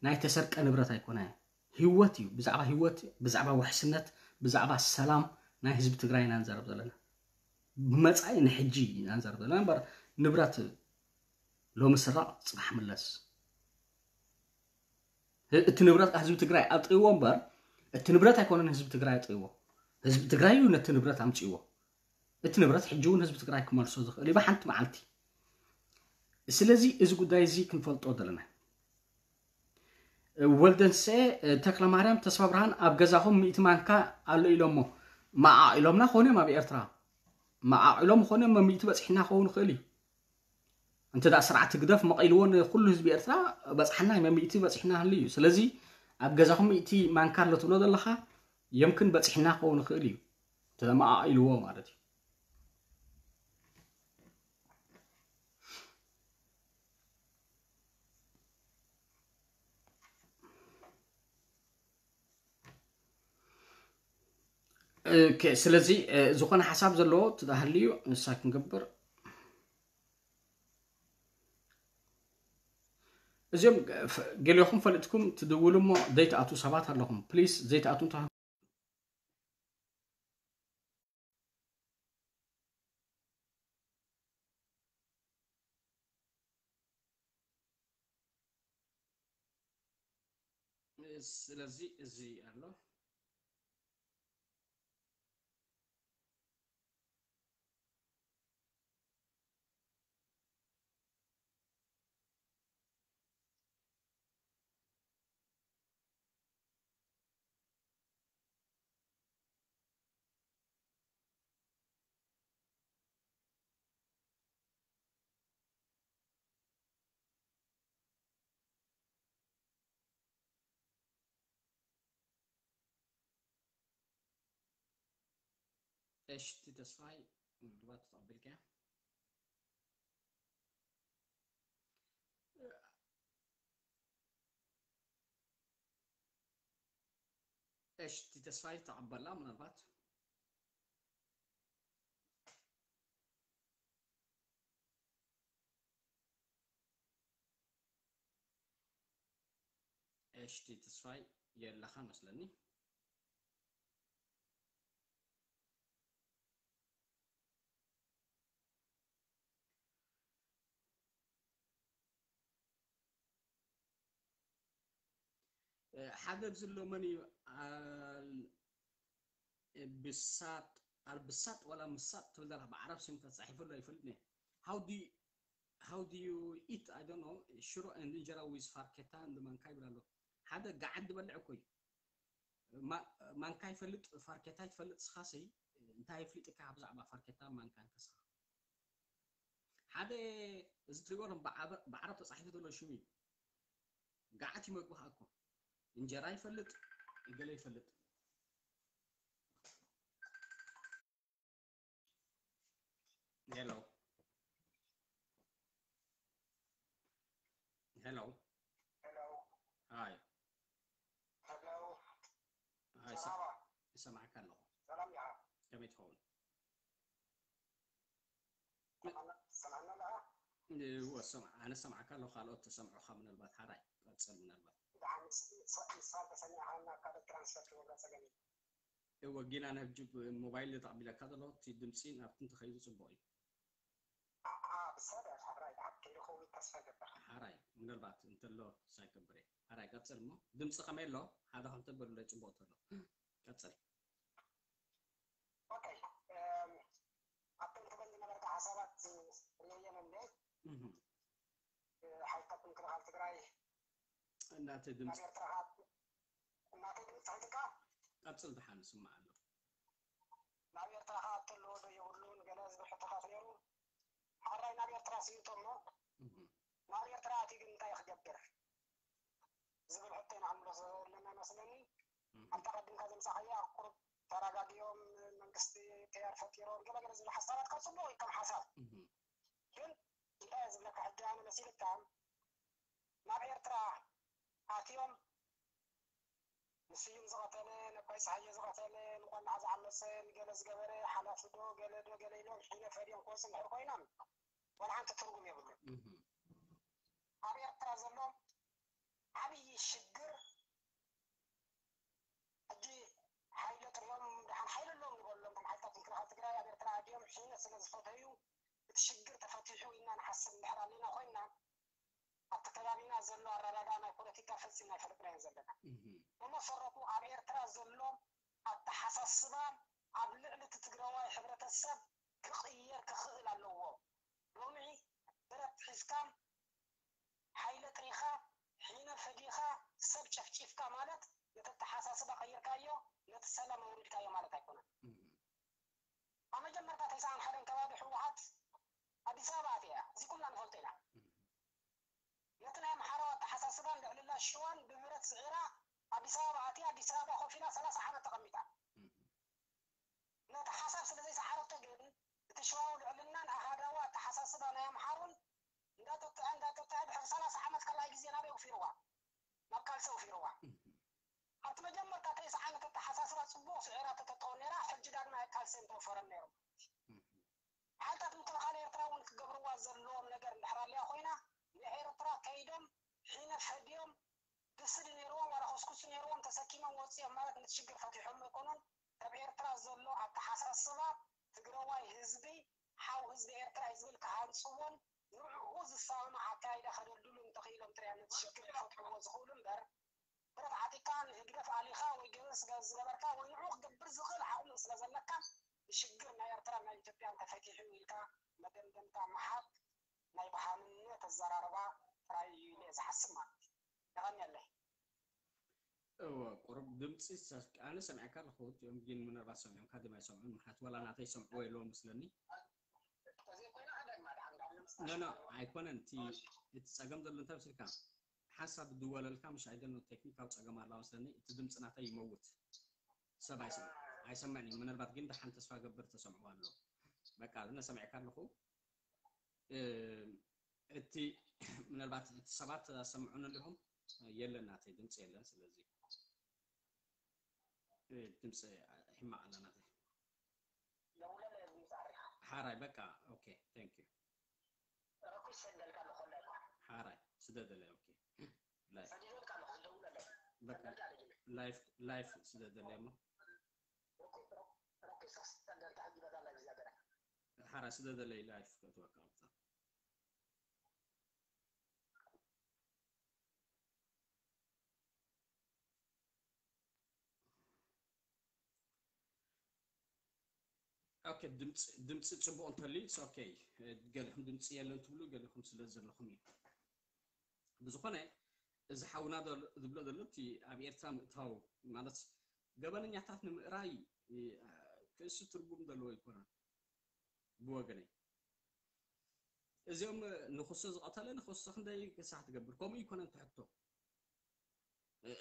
ናይ ተሰርቀ ንብረት ኣይኮነ። ህይወት እዩ። ብዛዕባ ህይወት፣ ብዛዕባ ውሕስነት፣ ብዛዕባ ሰላም ናይ ህዝቢ ትግራይ ኢና ንዛረብ ዘለና። ብመጻኢ ንሕጂ ኢና ንዛረብ ዘለና እምበር ንብረት ሎሚ ስራቕ ጽባሕ ምለስ። ህ- እቲ ንብረት ህዝቢ ትግራይ ኣጥይዎ እምበር እቲ ንብረት ኣይኮነን ህዝቢ ትግራይ ኣጥይዎ። ህዝቢ ትግራይ እዩ ነቲ ንብረት ኣምፅዎ። እቲ ንብረት ሕጂ እውን ህዝቢ ትግራይ ክመልሶ ዝኽእል እዩ ብሓንቲ መዓልቲ። ስለዚ እዚ ጉዳይ እዚ ክንፈልጦ ዘለና። ወልደንሰ ተክለ ማርያም ተስፋ ብርሃን ኣብ ገዛኹም ሚእቲ ማንካ ኣሎ ኢሎሞ መዓቕ ኢሎምና ኮነ ኣብ ኤርትራ መዓቕ ኢሎም ኮነ ሚእቲ በፂሕና ክኸውን ይኽእል እዩ። እንተ ደኣ ስርዓት ህግደፍ መቒልዎ ንኩሉ ህዝቢ ኤርትራ በጽሓና መሚእቲ በጽሕና ህሉ እዩ። ስለዚ ኣብ ገዛኹም ሚእቲ ማንካ ኣሎ ትብሎ ዘለኻ የምክን በጽሕና ክኸውን ይኽእል እዩ። ተመቓቒልዎ ማለት እዩ። ኦኬ፣ ስለዚ እ፣ ዝኾነ ሓሳብ ዘለዎ ትዳሃልዩ ንሳ ክንገብር እዚኦም ገ- ፈ- ገሊኹም ፈሊጥኩም ትድውሉ እሞ ዘይትኣትዉ ሰባት ኣለኹም። ፕሊስ ዘይትኣትዉ እንተ ስለዚ እዚ ኣሎ። እሽቲ ተስፋይ ምናልባት ተቐቢልካያ። እሽቲ ተስፋይ ተቐበላ ምናልባት። እሽቲ ተስፋይ የለኻ መስለኒ። ሓደ ኣብዚ ኣሎ መን እዩ? ኣል- ብሳጥ ኣልብሳጥ ዋላ ምሳጥ ትብል ዘላ ብዓረብ ስም ተጻሒፉ ኣሎ ይፈልጥ ነ how do you, how do you eat? I don't know. ሽሮ and እንጀራ with ፋርኬታ and ማንካ ይብል ኣሎ። ሓደ ገዓት ዝበልዕ እኮ እዩ። ማ- ማንካ ይፈልጥ ፋርኬታ ይትፈልጥ ስኻሲ እንታይ ይፍልጥካ ብዛዕባ ፋርኬታ ማንካን ከስኻ ሓደ እዚ ትሪእዎ ኣለኹም ብዓበ- ብዓረብ ተጻሒፉ ዘሎ ሽሙ እዩ። ገዓት ይመግብኻ እኮ እንጀራ ይፈልጥ ገለ ይፈልጥ። ሄሎ ሄሎ ሄሎ ሃይ ሄሎ ሃይ ሰ- ሰላማ ይሰማዕካ ኣለኹ። ሰላም ኢኻ? ከመይ ትኸውን? ሰማዕና ኣለኻ? እወ ሰማዕ ኣነ ሰማዕካ ኣለኹ። ካልኦት ተሰምዑኻ ምናልባት ሓራይ ቀጽል ምናልባት ብጣዕሚ ንሳ ተሰሚዕኻና ካልኦት ትራንስፈር ክገብራ ጸገም እዩ። እወ ጊና ናብ ጅብ ሞባይል ተቐቢለካ ዘሎ እቲ ድምፂ ናብቲ እንተኸይዱ ጽቡቕ እዩ። ኣኣ ብሰብ ሓራይ ደሓር ከይርኸቡ ተስፋ ይገብር። ሓራይ ምናልባት እንተሎ ሳይገብር እየ። ሓራይ ቀጽል እሞ ድምፂ ከመይ ኣሎ ሓደ ክልተ በሉለይ ጽቡቕ እንተሎ ቀጽል። ኦኬ ኣብቶም ትበል ዝነበርካ ሓሳባት ርየየን እንደ ሓይልታት ምክልኻል ትግራይ እናተ ድምፂ እናተ ድምፂ ሒዝካ ቀጽል ደሓን፣ ስማዕ ኣሎ። ናብ ኤርትራ ከኣ እተለዎ ዶ የብሉን ገለ ዝብል ሕቶታት ነይሩ። ሓራይ ናብ ኤርትራ ስኢቶ እሞ ናብ ኤርትራ ኣትዩ ግን እንታይ ክገብር ዝብል ሕቶ ኢና ክንብሎ ዘለና መስለኒ። ኣብታ ቀድምካ ዘምጻኻያ ቁሩብ ተረጋጊኦም መንግስቲ ተያር ፈጢሮም ገለ ገለ ዝብል ሓሳባት ካብ ጽቡቕ እዩ ከም ሓሳብ። ግን እንታይ ዝብለካ ሕጂ ኣነ መሲልካ ናብ ኤርትራ ኣትዮም ንስዩም ዝቐተለ፣ ነባይ ፀሃየ ዝቐተለ፣ ንቆላዓ ዝዓመፀ፣ ንገለ ዝገበረ ሓላፊ ዶ ገለ ዶ ገለ ኢሎም ሒነ ፈድዮም ክወፁ እንድሕር ኮይኖም ዋላ ሓንቲ ትርጉም የብሉን። ኣብ ኤርትራ ዘሎ ዓብዪ ሽግር ሕጂ ሓይለ ጥሪኦም ደሓን ሓይለ ኣለዎም ንበሎም፣ እቶም ሓይልታት ምክልኻል ትግራይ ኣብ ኤርትራ ኣድዮም ሒነ ስለ ዝፈተዩ እቲ ሽግር ተፈቲሑ ኢልና ንሓስብ እንድሕር ኣለና ኮይንና ኣብቲ ከባቢና ዘሎ ኣረዳድኣ ናይ ፖለቲካ ፈፂምና ኣይፈለጥናዮን ዘለና። ብመሰረቱ ኣብ ኤርትራ ዘሎ ኣተሓሳስባ ኣብ ልዕሊ እቲ ትግራዋይ ሕብረተሰብ ክቕየር ክኽእል ኣለዎ። ሎሚ ብረት ሒዝካ ሓይለ ጥሪኻ ሒነ ፈዲኻ ሰብ ጨፍጪፍካ ማለት ነቲ ኣተሓሳስባ ቀይርካዮ ነቲ ሰላም ኣውሪድካዮ ማለት ኣይኮነን። ኣብ መጀመርታ ተስዓን ሓደን ከባቢ ህወሓት ኣዲስ ኣበባ ኣትያ እያ። እዚ ኩልና ንፈልጦ ኢና። ነቲ ናይ ኣምሓራዊ ኣተሓሳስባን ልዕልና ሽዋን ብብረት ስዒራ ኣዲስ ኣበባ ኣትያ ኣዲስ ኣበባ ኮፍ ኢላ ሰላሳ ዓመት ተቐሚጣ። ነቲ ሓሳብ ስለ ዘይሰዓረቶ ግን እቲ ሽዋዊ ልዕልናን ኣሃዳዊ ኣተሓሳስባ ናይ ኣምሓሩን እንዳጠጥዐ እንዳጠጥዐ ድሕሪ ሰላሳ ዓመት ካልኣይ ግዜ ናበይ ውፊርዋ? ናብ ካልሲ ውፊርዋ። ኣብቲ መጀመርታ ተስዓ ዓመት ኣተሓሳስባ ፅቡቕ ስዒራ ተተጠው ነይራ ሕጂ ዳግማይ ኣብ ካልሲ እንተወፈረን ነይሩ። ሓይልታት ምክልኻል ኤርትራ እውን ክገብርዋ ዘለዎም ነገር እንድሕር ኣልያ ኮይና ንኤርትራ ከይዶም ሒነ ፈድዮም ብስዲ ነይርዎም ዋላ ኮስኩሲ ነይርዎም ተሰኪሞም ወፂኦም ማለት ነቲ ሽግር ፈቲሖም ኣይኮኑን። ኣብ ኤርትራ ዘሎ ኣተሓሳስባ ትግረዋይ ህዝቢ ሓው ህዝቢ ኤርትራ እዩ ዝብል ክሃንፅዎን ንዕኡ ዝሰማማዕ ኣካይዳ ከደልድሉ እንተኽኢሎም ጥራይ ነቲ ሽግር ክፈትሕዎ ዝኽእሉ እምበር ብረት ዓጢቕካ ንህግደፍ ኣሊኻ ወይ ገበን ስጋ ዝገበርካ ወይ ንዕኡ ክገብር ዝኽእል ዓቕሚ ስለ ዘለካ ንሽግር ናይ ኤርትራን ናይ ኢትዮጵያን ተፈቲሑ ኢልካ መደምደምታ ምሃብ ናይ ብሃምነት ኣዘራርባ ጥራይ እዩ ኢለ እየ ዝሓስብ ማለት እዩ። የቐንየለይ። እወ ቁሩብ ድምፂ ኣነ ሰሚዐካ ኣለኹ እቲኦም ግን ምናልባት ሰሚዖምካ ድማ ኣይሰምዑን ምክንያቱ ዋላ ናተይ ሰምዕዎ የለዎም መስለኒ። ኖ ኖ ኣይኮነን እቲ እቲ ፀገም ዘሎ እንታይ መስልካ ሓንሳብ ዝድወለልካ ምሽ ኣይደል ቴክኒካዊ ፀገም ኣላ መስለኒ እቲ ድምፂ ናተይ ይመውት ሰብ ኣይሰምዕን እዩ ምናልባት ግን ደሓን ተስፋ ገብር ተሰምዕዎ ኣሎ በቃ እነ ሰሚዕካ ኣለኹ እቲ ምናልባት እቲ ሰባት ኣሰምዑን ኣለኹም የለን ናተይ ድምፂ የለን ስለዚ ድምፂ ሕማቕ ኣላ ናተይ ሓራይ በቃ okay thank you ሓራይ ስደደለይ okay live በቃ live live ስደደለይ እሞ ሓራይ ስደደለይ live ከእትወካ ኣብታ okay ድምፂ ፅቡቕ እንተልዩ okay ገለኹም ድምፂ የለን ትብሉ ገለኹም ስለ ዘለኹም እዩ ብዝኾነ እዚ ሓውና ዝብሎ ዘሎ እቲ ኣብ ኤርትራ ምእታው ማለት ገበነኛታት ንምእራይ ክእሱ ትርጉም ዘለዎ ኣይኮነን ብወገነይ እዚኦም ንክሶ ዝቐተለ ንክሶ ክንደይ ክሳዕ ትገብር ከምኡ ይኮነን ትሕቶ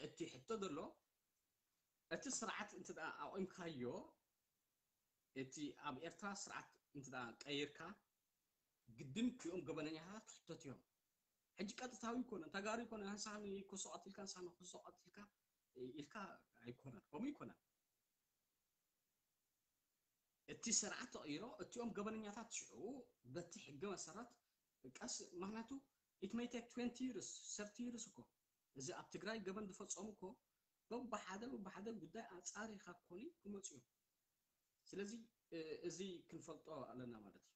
እቲ ሕቶ ዘሎ እቲ ስርዓት እንተ ኣቑምካዮ እቲ ኣብ ኤርትራ ስርዓት እንተ ቀይርካ ግድን ክኦም ገበነኛታት ክሕተት እዮም ሕጂ ቀጥታዊ ይኮነ ተጋሩ ይኮነ ንሳ ንክሶ ቀትልካ ንሳ ንክሶ ቀትልካ ኢልካ ኣይኮነን ከምኡ ይኮነን እቲ ስርዓት ተቐይሮ እቲኦም ገበነኛታት ሽዑ በቲ ሕጊ መሰረት ቀስ ምክንያቱ it may take twenty years thirty years እኮ እዚ ኣብ ትግራይ ገበን ዝፈፀሙ እኮ በብሓደ በብሓደ ጉዳይ ኣፃሪኻ ኮኒ ክመፁ እዮም ስለዚ እዚ ክንፈልጦ ኣለና ማለት እዩ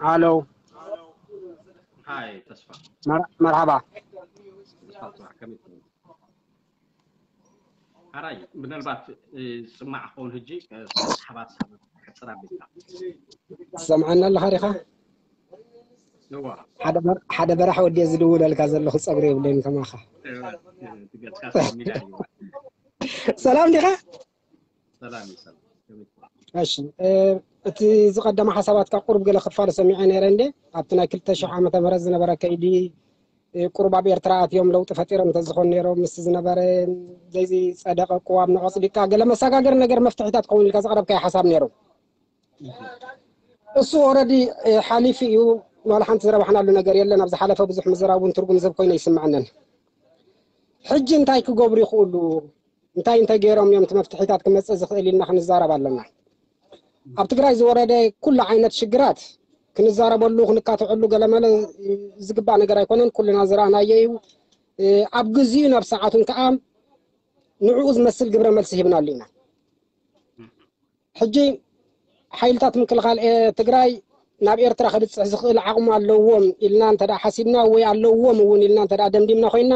ሃሎ ሃይ ተስፋ መርሓባ ሓራይ ምናልባት ፅማዕ ክኸውን ህጂ ሓባት ትሰምዓና ኣለኻ ዲኻ? ሓደ በራሕ ወዲ ዝድውለልካ ዘለኹ ጸጉሪ የብለይን ከማኻ። ሰላም ዲኻ? እሺ፣ እቲ ዝቐደመ ሓሳባትካ ቁሩብ ገለ ክፋሉ ሰሚዐ ነይረ እንዴ? ኣብቲ ናይ ክልተ ሽሕ ዓመተ ምህረት ዝነበረ ከይዲ ቁሩብ ኣብ ኤርትራ ኣትዮም ለውጢ ፈጢሮም እንተዝኾኑ ነይሮም ምስ ዝነበረ ዘይጸደቐ ቅዋም ንቐጽዲካ ገለ መሰጋገሪ ነገር መፍትሒታት ክኸውን ኢልካ ዘቕረብካዮ ሓሳብ ነይሩ። እሱ ኦረዲ ሓሊፉ እዩ። ዋላ ሓንቲ ዝረባሕናሉ ነገር የለን። ኣብ ዝሓለፈ ብዙሕ ምዝራብ እውን ትርጉም ዝህብ ኮይኑ ይስምዐንን። ሕጂ እንታይ ክገብሩ ይኽእሉ? እንታይ እንተገይሮም እዮም እቲ መፍትሒታት ክመፅእ ዝኽእል ኢልና ክንዛረብ ኣለና። ኣብ ትግራይ ዝወረደ ኩሉ ዓይነት ሽግራት ክንዛረበሉ ክንካትዐሉ ገለመለ ዝግባእ ነገር ኣይኮነን። ኩልና ዝረኣናዮ እዩ። ኣብ ግዚኡ ናብ ሰዓቱን ከዓ ንዕኡ ዝመስል ግብረ መልሲ ሂብናሉ ኢና። ሕጂ ሓይልታት ምክልኻል ትግራይ ናብ ኤርትራ ክብፅሕ ዝኽእል ዓቕሚ ኣለዎም ኢልና እንተ ሓሲብና ወይ ኣለዎም እውን ኢልና እንተ ደምዲምና ኮይና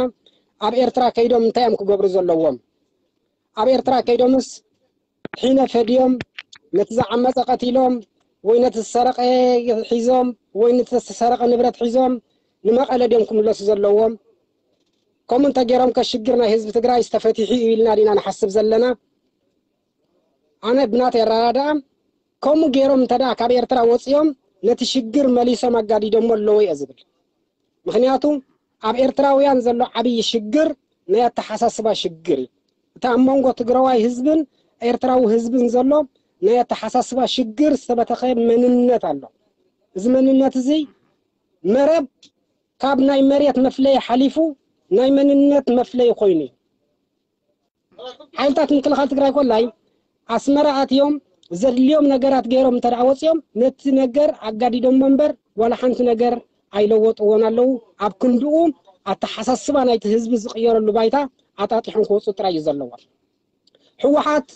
ኣብ ኤርትራ ከይዶም እንታይ እዮም ክገብሩ ዘለዎም? ኣብ ኤርትራ ከይዶምስ ሒነ ፈድዮም ነቲ ዝዓመፀ ቀቲሎም ወይ ነቲ ዝሰረቐ ሒዞም ወይ ነቲ ዝተሰረቐ ንብረት ሒዞም ንመቐለ ድዮም ክምለሱ ዘለዎም? ከምኡ እንተገይሮም ከ ሽግር ናይ ህዝቢ ትግራይ ዝተፈቲሑ እዩ ኢልና ዲና ንሓስብ ዘለና? ኣነ ብናተይ ኣረዳድኣ ከምኡ ገይሮም እንተ ደኣ ካብ ኤርትራ ወፂኦም ነቲ ሽግር መሊሶም ኣጋዲዶሞ ኣለዎ እየ ዝብል። ምኽንያቱ ኣብ ኤርትራውያን ዘሎ ዓብዪ ሽግር ናይ ኣተሓሳስባ ሽግር እዩ። እቲ ኣብ መንጎ ትግራዋይ ህዝብን ኤርትራዊ ህዝብን ዘሎ ናይ ኣተሓሳስባ ሽግር ዝተበተኸ መንነት ኣሎ። እዚ መንነት እዚ መረብ ካብ ናይ መሬት መፍለይ ሓሊፉ ናይ መንነት መፍለይ ኮይኑ እዩ። ሓይልታት ምክልኻል ትግራይ ኮላይ ኣስመራ ኣትዮም ዘድልዮም ነገራት ገይሮም እንተ ደኣ ወፂኦም ነቲ ነገር ኣጋዲዶሞ እምበር ዋላ ሓንቲ ነገር ኣይለወጥዎን ኣለዉ። ኣብ ክንድኡ ኣተሓሳስባ ናይቲ ህዝቢ ዝቕየረሉ ባይታ ኣጣጢሖም ክወፁ ጥራይ እዩ ዘለዎም። ህወሓት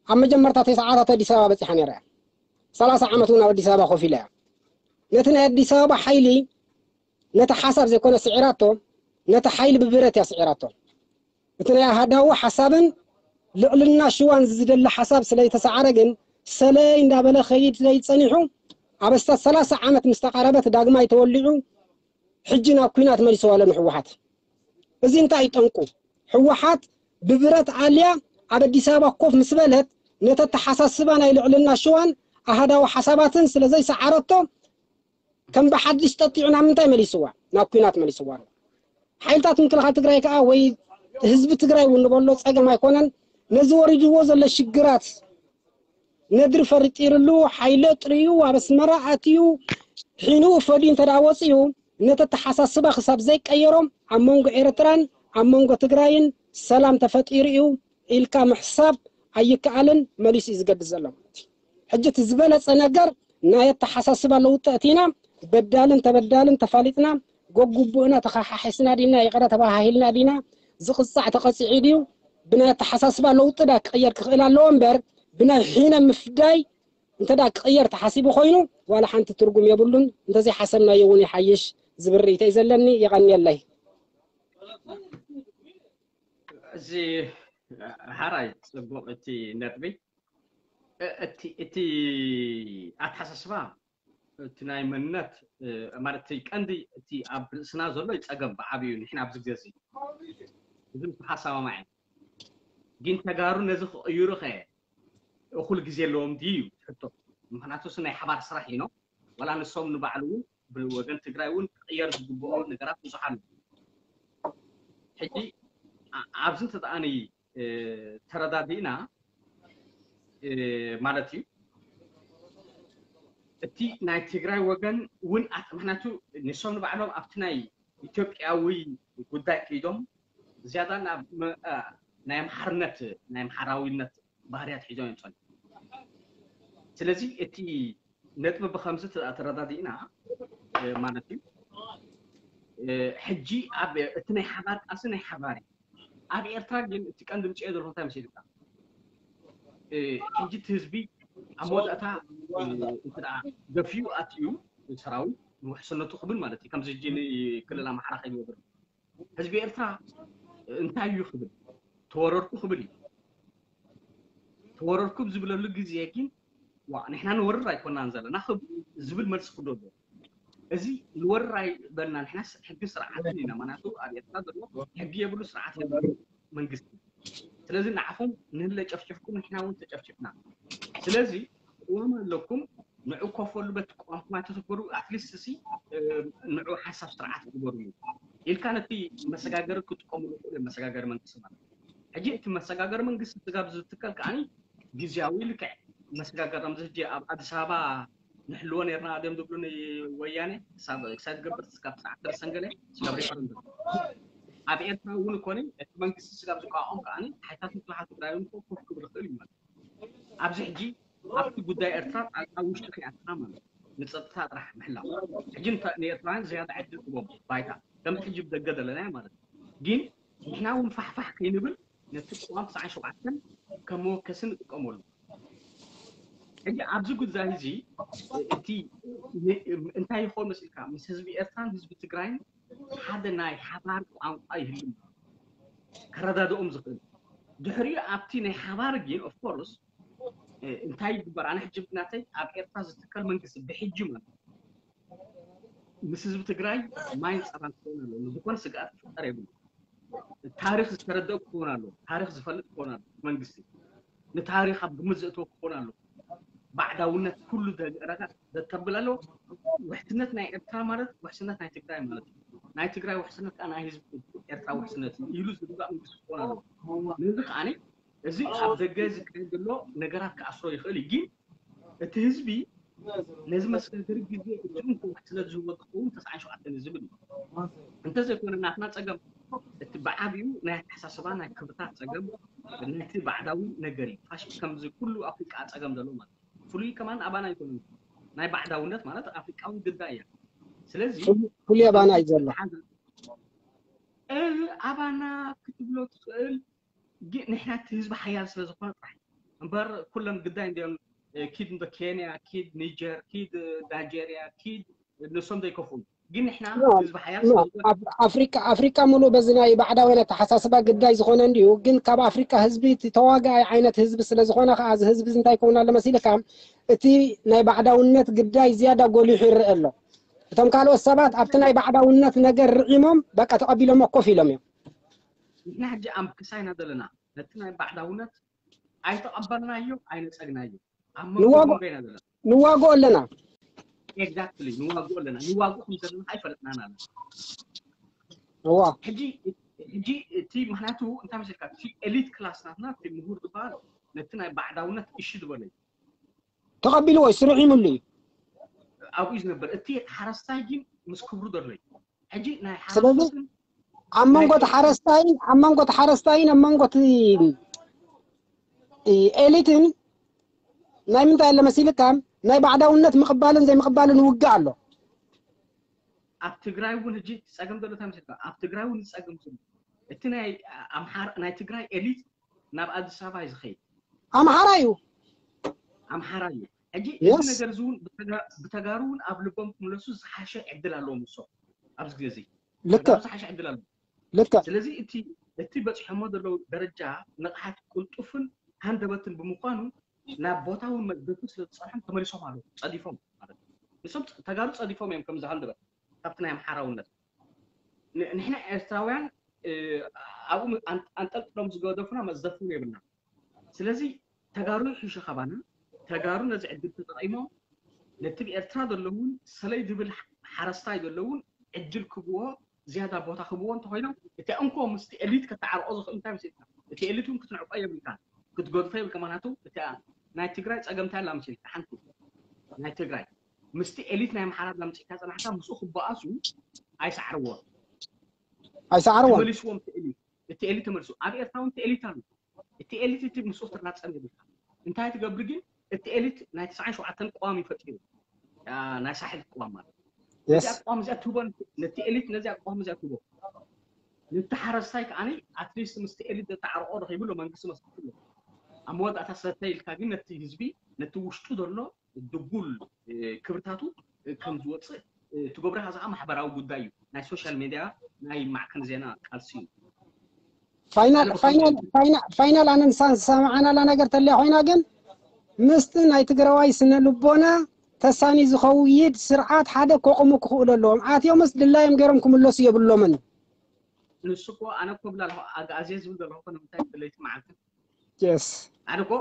ኣብ መጀመርታ ተስዓታት ኣዲስ ኣበባ በፂሓ ነይራ እያ። ሰላሳ ዓመት እውን ኣብ ኣዲስ ኣበባ ኮፍ ኢላ እያ። ነቲ ናይ ኣዲስ ኣበባ ሓይሊ ነቲ ሓሳብ ዘይኮነ ስዒራቶ፣ ነቲ ሓይሊ ብብረት እያ ስዒራቶ። እቲ ናይ ኣሃዳዊ ሓሳብን ልዕልና ሽዋን ዝደሊ ሓሳብ ስለ ዝተሰዓረ ግን ሰለይ እንዳበለ ከይድ ዘይጸኒሑ ኣብ ኣስታት ሰላሳ ዓመት ምስ ተቓረበት ዳግማይ ተወሊዑ ሕጂ ናብ ኲናት መሊስዋ ኣሎ ንህወሓት። እዚ እንታይ እዩ ጠንቁ? ህወሓት ብብረት ኣልያ ኣብ ኣዲስ ኣበባ ኮፍ ምስ በለት ነቲ ኣተሓሳስባ ናይ ልዕልና ሽዋን ኣሃዳዊ ሓሳባትን ስለ ዘይሰዓረቶ ከም ብሓድሽ ጠጢዑ ናብ ምንታይ መሊስዋ? ናብ ኲናት መሊስዋ ኣሎ። ሓይልታት ምክልኻል ትግራይ ከዓ ወይ ህዝቢ ትግራይ እውን ንበሎ ጸገም ኣይኮነን። ነዚ ወሪድዎ ዘሎ ሽግራት ነድሪ ፈሪጢርሉ ሓይለ ጥርዩ ኣብ ኣስመራ ኣትዩ ሒንኡ ፈድዩ እንተ ደኣ ወፅዩ ነቲ ኣተሓሳስባ ክሳብ ዘይቀየሮም ኣብ መንጎ ኤርትራን ኣብ መንጎ ትግራይን ሰላም ተፈጢሩ እዩ ኢልካ ምሕሳብ ኣይከኣልን። መሊሱ እዩ ዝገድስ ዘሎ ማለት እዩ። ሕጂ እቲ ዝበለፀ ነገር ናይ ኣተሓሳስባ ለውጢ ኣእቲና በዳልን ተበዳልን ተፋሊጥና ጎግቡእና ተኸሓሒስና ዲና ይቕረ ተባሃሂልና ዲና ዝቕፃዕ ተቐፂዑ ድዩ ብናይ ኣተሓሳስባ ለውጢ ዳ ክቕየር ክኽእል ኣለዎ እምበር ብናይ ሒነ ምፍዳይ እንተ ዳ ክቕየር ተሓሲቡ ኮይኑ ዋላ ሓንቲ ትርጉም የብሉን። እንተዘይሓሰብናዮ እውን ይሓይሽ ዝብል ርእይቶ እዩ ዘለኒ። የቐንየለይ። እዚ ሓራይ ፅቡቕ እቲ ነጥቢ እቲ ኣተሓሳስባ እቲ ናይ መንነት ማለት እቲ ቀንዲ እቲ ኣብ ርእስና ዘሎ ይፀገም ብዓብዩ ንሕና ኣብዚ ግዜ እዚ እዚ ምስ ሓሳማማዕ ግን ተጋሩ ነዚ ክቕይሩ ከ እኹል ግዜ ኣለዎም ድዩ ሕቶ ምክንያቱ ናይ ሓባር ስራሕ ኢኖ ዋላ ንሶም ንባዕሉ እውን ብወገን ትግራይ እውን ክቕየር ዝግብኦ ነገራት ብዙሓን ሕጂ ኣብዚ እንተደኣኒ ተረዳዲእና ማለት እዩ እቲ ናይ ትግራይ ወገን እውን ምክንያቱ ንሶም ንባዕሎም ኣብቲ ናይ ኢትዮጵያዊ ጉዳይ ከይዶም ዝያዳ ናይ ኣምሓርነት ናይ ኣምሓራዊነት ባህርያት ሒዞም እዮም ፀኒሖም ስለዚ እቲ ነጥቢ ብከምዚ ተረዳዲእና ማለት እዩ ሕጂ ኣብ እቲ ናይ ሓባር ቃልሲ ናይ ሓባር እዩ ኣብ ኤርትራ ግን እቲ ቀንዲ ምፅኦ ዘለኹ እንታይ መሲልካ ሕጂ እቲ ህዝቢ ኣብ መወዳእታ እንተ ደፊኡ ኣትዩ ሰራዊት ንውሕስነቱ ክብል ማለት እዩ ከምዚ ሕጂ ክልል ኣምሓራ ከይወገር ህዝቢ ኤርትራ እንታይ እዩ ክብል ተወረርኩ ክብል እዩ ተወረርኩ ዝብለሉ ግዜ ግን ዋ ንሕና ንወርር ኣይኮናን ዘለና ዝብል መልሲ ክዶ ኣሎ። እዚ ንወርር ኣይበልና ንሕና ሕጊ ስርዓትን ኢና። ማናቱ ኣብ ኤርትራ ዘሎ ሕጊ የብሉ፣ ስርዓት የብሉ፣ መንግስቲ። ስለዚ ንዓኹም ንህለ ጨፍጭፍኩም ንሕና እውን ተጨፍጭፍና። ስለዚ ቅዋም ኣለኩም፣ ንዑ ኮፈሉ በቲ ቅዋምኩም ኣይተሰበሩ፣ ኣትሊስት ሲ ንዑ ሓንሳብ ስርዓት ግበሩ ኢልካ ነቲ መሰጋገሪ ክጥቀሙሉ ይኽእሉ እዮም። መሰጋገሪ መንግስቲ ማለት ሕጂ እቲ መሰጋገሪ መንግስቲ ስጋብ ዝትከል ከዓኒ ግዜያዊ ልክዕ መሰጋገሪ ከምዚ ሕጂ ኣብ ኣዲስ ኣበባ ንሕልዎ ነርና ድዮም ዝብሉ ንወያነ ክሳብ ክሳብ ዝገብር ስጋብ ሰዓት ደርሰን ገለ ስጋብ ሪፈረንደም ኣብ ኤርትራ እውን ኮነ እቲ መንግስቲ ስጋብ ዝቋቋም ከዓኒ ሓይታት ምክልኻል ትግራይ እውን ኮፍ ክብል ይኽእል እዩ ማለት ኣብዚ ሕጂ ኣብቲ ጉዳይ ኤርትራ ጣልቃ ውሽጢ ከይኣትና ማለት ንፀጥታ ጥራሕ ምሕላው ሕጂ ንኤርትራውያን ዝያዳ ዕድል ክቦም ባይታ ከምቲ ሕጂ ብደገ ዘለና ማለት ግን ንሕና እውን ፋሕፋሕ ከይንብል ነቲ ቅዋም ትስዓን ሸውዓተን ከም መወከሲ ንጥቀመሉ። ሕጂ ኣብዚ ጉዳይ እዚ እቲ እንታይ ይኾን መሲልካ ምስ ህዝቢ ኤርትራን ህዝቢ ትግራይን ሓደ ናይ ሓባር ቋንቋ ይህሉ ከረዳድኦም ዝኽእል ድሕሪኡ ኣብቲ ናይ ሓባር ግን ኦፍኮርስ እንታይ ይግበር ኣነ ሕጂ ብናተይ ኣብ ኤርትራ ዝትከል መንግስቲ ብሕጂ ማለት ምስ ህዝቢ ትግራይ ማይን ፀባን ክኸውን ኣለዎ። ዝኾነ ስግኣት ክፍጠር የብሉ። ታሪኽ ዝተረደእ ክኸውን ኣለዎ። ታሪኽ ዝፈልጥ ክኸውን ኣለዎ። መንግስቲ ንታሪኽ ኣብ ግምት ዘእትዎ ክኸውን ኣለዎ። ባዕዳውነት ኩሉ ረጋ ዘተብል ኣለዎ። ውሕስነት ናይ ኤርትራ ማለት ውሕስነት ናይ ትግራይ ማለት እዩ። ናይ ትግራይ ውሕስነት ከዓ ናይ ህዝቢ ኤርትራ ውሕስነት እዩ ኢሉ ዝግዛእ መንግስቲ ክኸውን ኣለዎ። ነዚ ከዓ እዚ ኣብ ደገ ዝካየድ ዘሎ ነገራት ክኣስሮ ይኽእል እዩ። ግን እቲ ህዝቢ ነዚ መሰጋገሪ ግዜ እቲ እንኮ ስለ ዝህቦ ዝኸውን ተስዓን ሸውዓተን ዝብል እዩ። እንተዘይኮነ ናትና ፀገም እቲ ብዓብዩ ናይ ኣተሓሳስባ ናይ ክብርታት ፀገም ናይቲ ባዕዳዊ ነገር እዩ። ፋሽስት ከምዚ ኩሉ ኣፍሪቃ ፀገም ዘሎ ማለት እዩ። ፍሉይ ከማን ኣባና ኣይኮነን። ናይ ባዕዳውነት ማለት ኣፍሪቃዊ ግዳ እያ። ስለዚ ፍሉይ ኣባና እዩ ዘሎ። ኣባና ክትብሎ ትኽእል ግን ንሕና እቲ ህዝቢ ሓያል ስለ ዝኾነ ጥራሕ እምበር ኩለን ግዳይ እንዲኦም ኪድ እንዶ ኬንያ ኪድ ኒጀር ኪድ ናይጀርያ ኪድ ንሶም ዘይከፍኡ ግን ንሕና ህዝቢ ሓያል ስለ ዝኾነ ኣፍሪካ ኣፍሪካ ሙሉእ በዚ ናይ ባዕዳውያን ኣተሓሳስባ ግዳይ ዝኾነ እንዲዩ ግን ካብ ኣፍሪካ ህዝቢ እቲ ተዋጋኣይ ዓይነት ህዝቢ ስለ ዝኾነ ከዓ እዚ ህዝቢ እዚ እንታይ ይከውን ኣሎ መሲልካ እቲ ናይ ባዕዳውነት ግዳይ ዝያዳ ጎሊሑ ይረአ ኣሎ እቶም ካልኦት ሰባት ኣብቲ ናይ ባዕዳውነት ነገር ርዒሞም በቃ ተቐቢሎሞ ኮፍ ኢሎም እዮም ንሕና ሕጂ ኣምክሳ ኢና ዘለና ነቲ ናይ ባዕዳውነት ኣይተቐበልናዮ ኣይነፀግናዮ ኣብ መንጎ ኢና ዘለና ንዋግኦ ኣለና exactly ንዋግኦ ኣለና ንዋግኦ ከም ዘለና ኣይፈለጥናን ኣለና እዋ ሕጂ ሕጂ እቲ ምክንያቱ እንታይ መሰልካ እቲ ኤሊት ክላስ ናትና እቲ ምሁር ዝበሃል ነቲ ናይ ባዕዳውነት እሺ ዝበለ እዩ ተቐቢልዎ እዩ ስርሒምሉ እዩ ኣብኡ እዩ ዝነበር እቲ ሓረስታይ ግን ምስ ክብሩ ዘሎ እዩ ሕጂ ናይ ስለዚ ሓረስቶትን ኣብ መንጎ እቲ ሓረስታይን ኣብ መንጎ እቲ ሓረስታይን ኣብ መንጎ እቲ ኤሊትን ናይ ምንታይ ኣለ መሲልካ ናይ ባዕዳውነት ምቕባልን ዘይምቕባልን ውግእ ኣሎ ኣብ ትግራይ እውን ሕጂ እቲ ፀገም ዘሎ እንታይ መሰልካ ኣብ ትግራይ እውን ዝፀገም ዘሎ እቲ ናይ ኣምሓራ ናይ ትግራይ ኤሊት ናብ ኣዲስ ኣበባ እዩ ዝኸይድ ኣምሓራ እዩ ኣምሓራ እዩ ሕጂ Yes. እዚ ነገር እዚ እውን ብተጋ- ብተጋሩ እውን ኣብ ልቦም ክምለሱ ዝሓሸ ዕድል ኣለዎም ንሶም ኣብዚ ግዜ እዚ ልክዕ ዝሓሸ ዕድል ኣለዎም ልክዕ ስለዚ እቲ እቲ በፂሖሞ ዘለዉ ደረጃ ንቕሓት ቅልጡፍን ሃንደበትን ብምዃኑ ናብ ቦታውን መዝገቱ ስለ ዝፀንሖም ተመሊሶም ኣለዉ ፀዲፎም ማለት እዩ ንሶም ተጋሩ ፀዲፎም እዮም ከምዚ ሃንደበት ካብቲ ናይ ኣምሓራውነት ንሕና ኤርትራውያን ኣብኡ ኣንጠልጥሎም ዝገደፉና መዝደፍን የብልና ስለዚ ተጋሩ ይሕሹ ካባና ተጋሩ ነዚ ዕድል ተጠቒሞም ነቲ ብኤርትራ ዘለውን ሰለይ ዝብል ሓረስታይ ዘለውን ዕድል ክብዎ ዝያዳ ቦታ ክብዎ እንተኮይኖም እቲ እንኮ ምስቲ ኤሊት ከተዓርቆ ዝኽእል እንታይ መሲልካ እቲ ኤሊት እውን ክትንዕቆ የብልካ ክትገድፎ የብልካ ምክንያቱ እቲ ናይ ትግራይ ፀገምታ ኣላ መሲልካ ሓንቲ ናይ ትግራይ ምስቲ ኤሊት ናይ ኣምሓራ ላምፂእካ ፀናሕካ ምስኡ ክበኣሱ ኣይሰዓርዎ ኣይሰዓርዎን ተመሊስዎም እቲ ኤሊት እቲ ኤሊት ተመልሱ ኣብ ኤርትራ እውን እቲ ኤሊት ኣሎ እቲ ኤሊት እቲ ምስኡ ትራፀም የብልካ እንታይ ትገብር ግን እቲ ኤሊት ናይ ትስዓን ሸውዓተን ቅዋም ይፈጢሩ ናይ ሳሕል ቅዋም ማለት ነዚኣ ቅዋም እዚኣ ትህቦ ነቲ ኤሊት ነዚኣ ቅዋም እዚኣ ትህቦ ነቲ ሓረስታይ ከዓኒ ኣትሊስት ምስቲ ኤሊት ዘተዓርቆ ረኺቡ ኣሎ መንግስቲ መስክፍሎ ኣብ መወዳእታ ሰተ ኢልካ ግን ነቲ ህዝቢ ነቲ ውሽጡ ዘሎ ድጉል ክብርታቱ ከም ዝወፅእ ትገብሮ ከኣ ማሕበራዊ ጉዳይ እዩ ናይ ሶሻል ሜድያ ናይ ማዕከን ዜና ቃልሲ እዩ ፋይናል ፋይናል ፋይናል ፋይናል ኣነ ንሳ ዝሰማዓናላ ነገር ተለያ ኮይና ግን ምስቲ ናይ ትግራዋይ ስነ ልቦና ተሳኒ ዝኸውይድ ስርዓት ሓደ ከቑሙ ክኽእሉ ኣለዎም። ኣትዮምስ ድላዮም ገይሮም ክምለሱ የብሎምን። ንሱ እኮ ኣነ እኮ ብላ ኣለኹ ኣግኣዝየ ዝብል ዘለኹ እኮ ንምንታይ ለይቲ መዓልቲ የስ ኣነ እኮ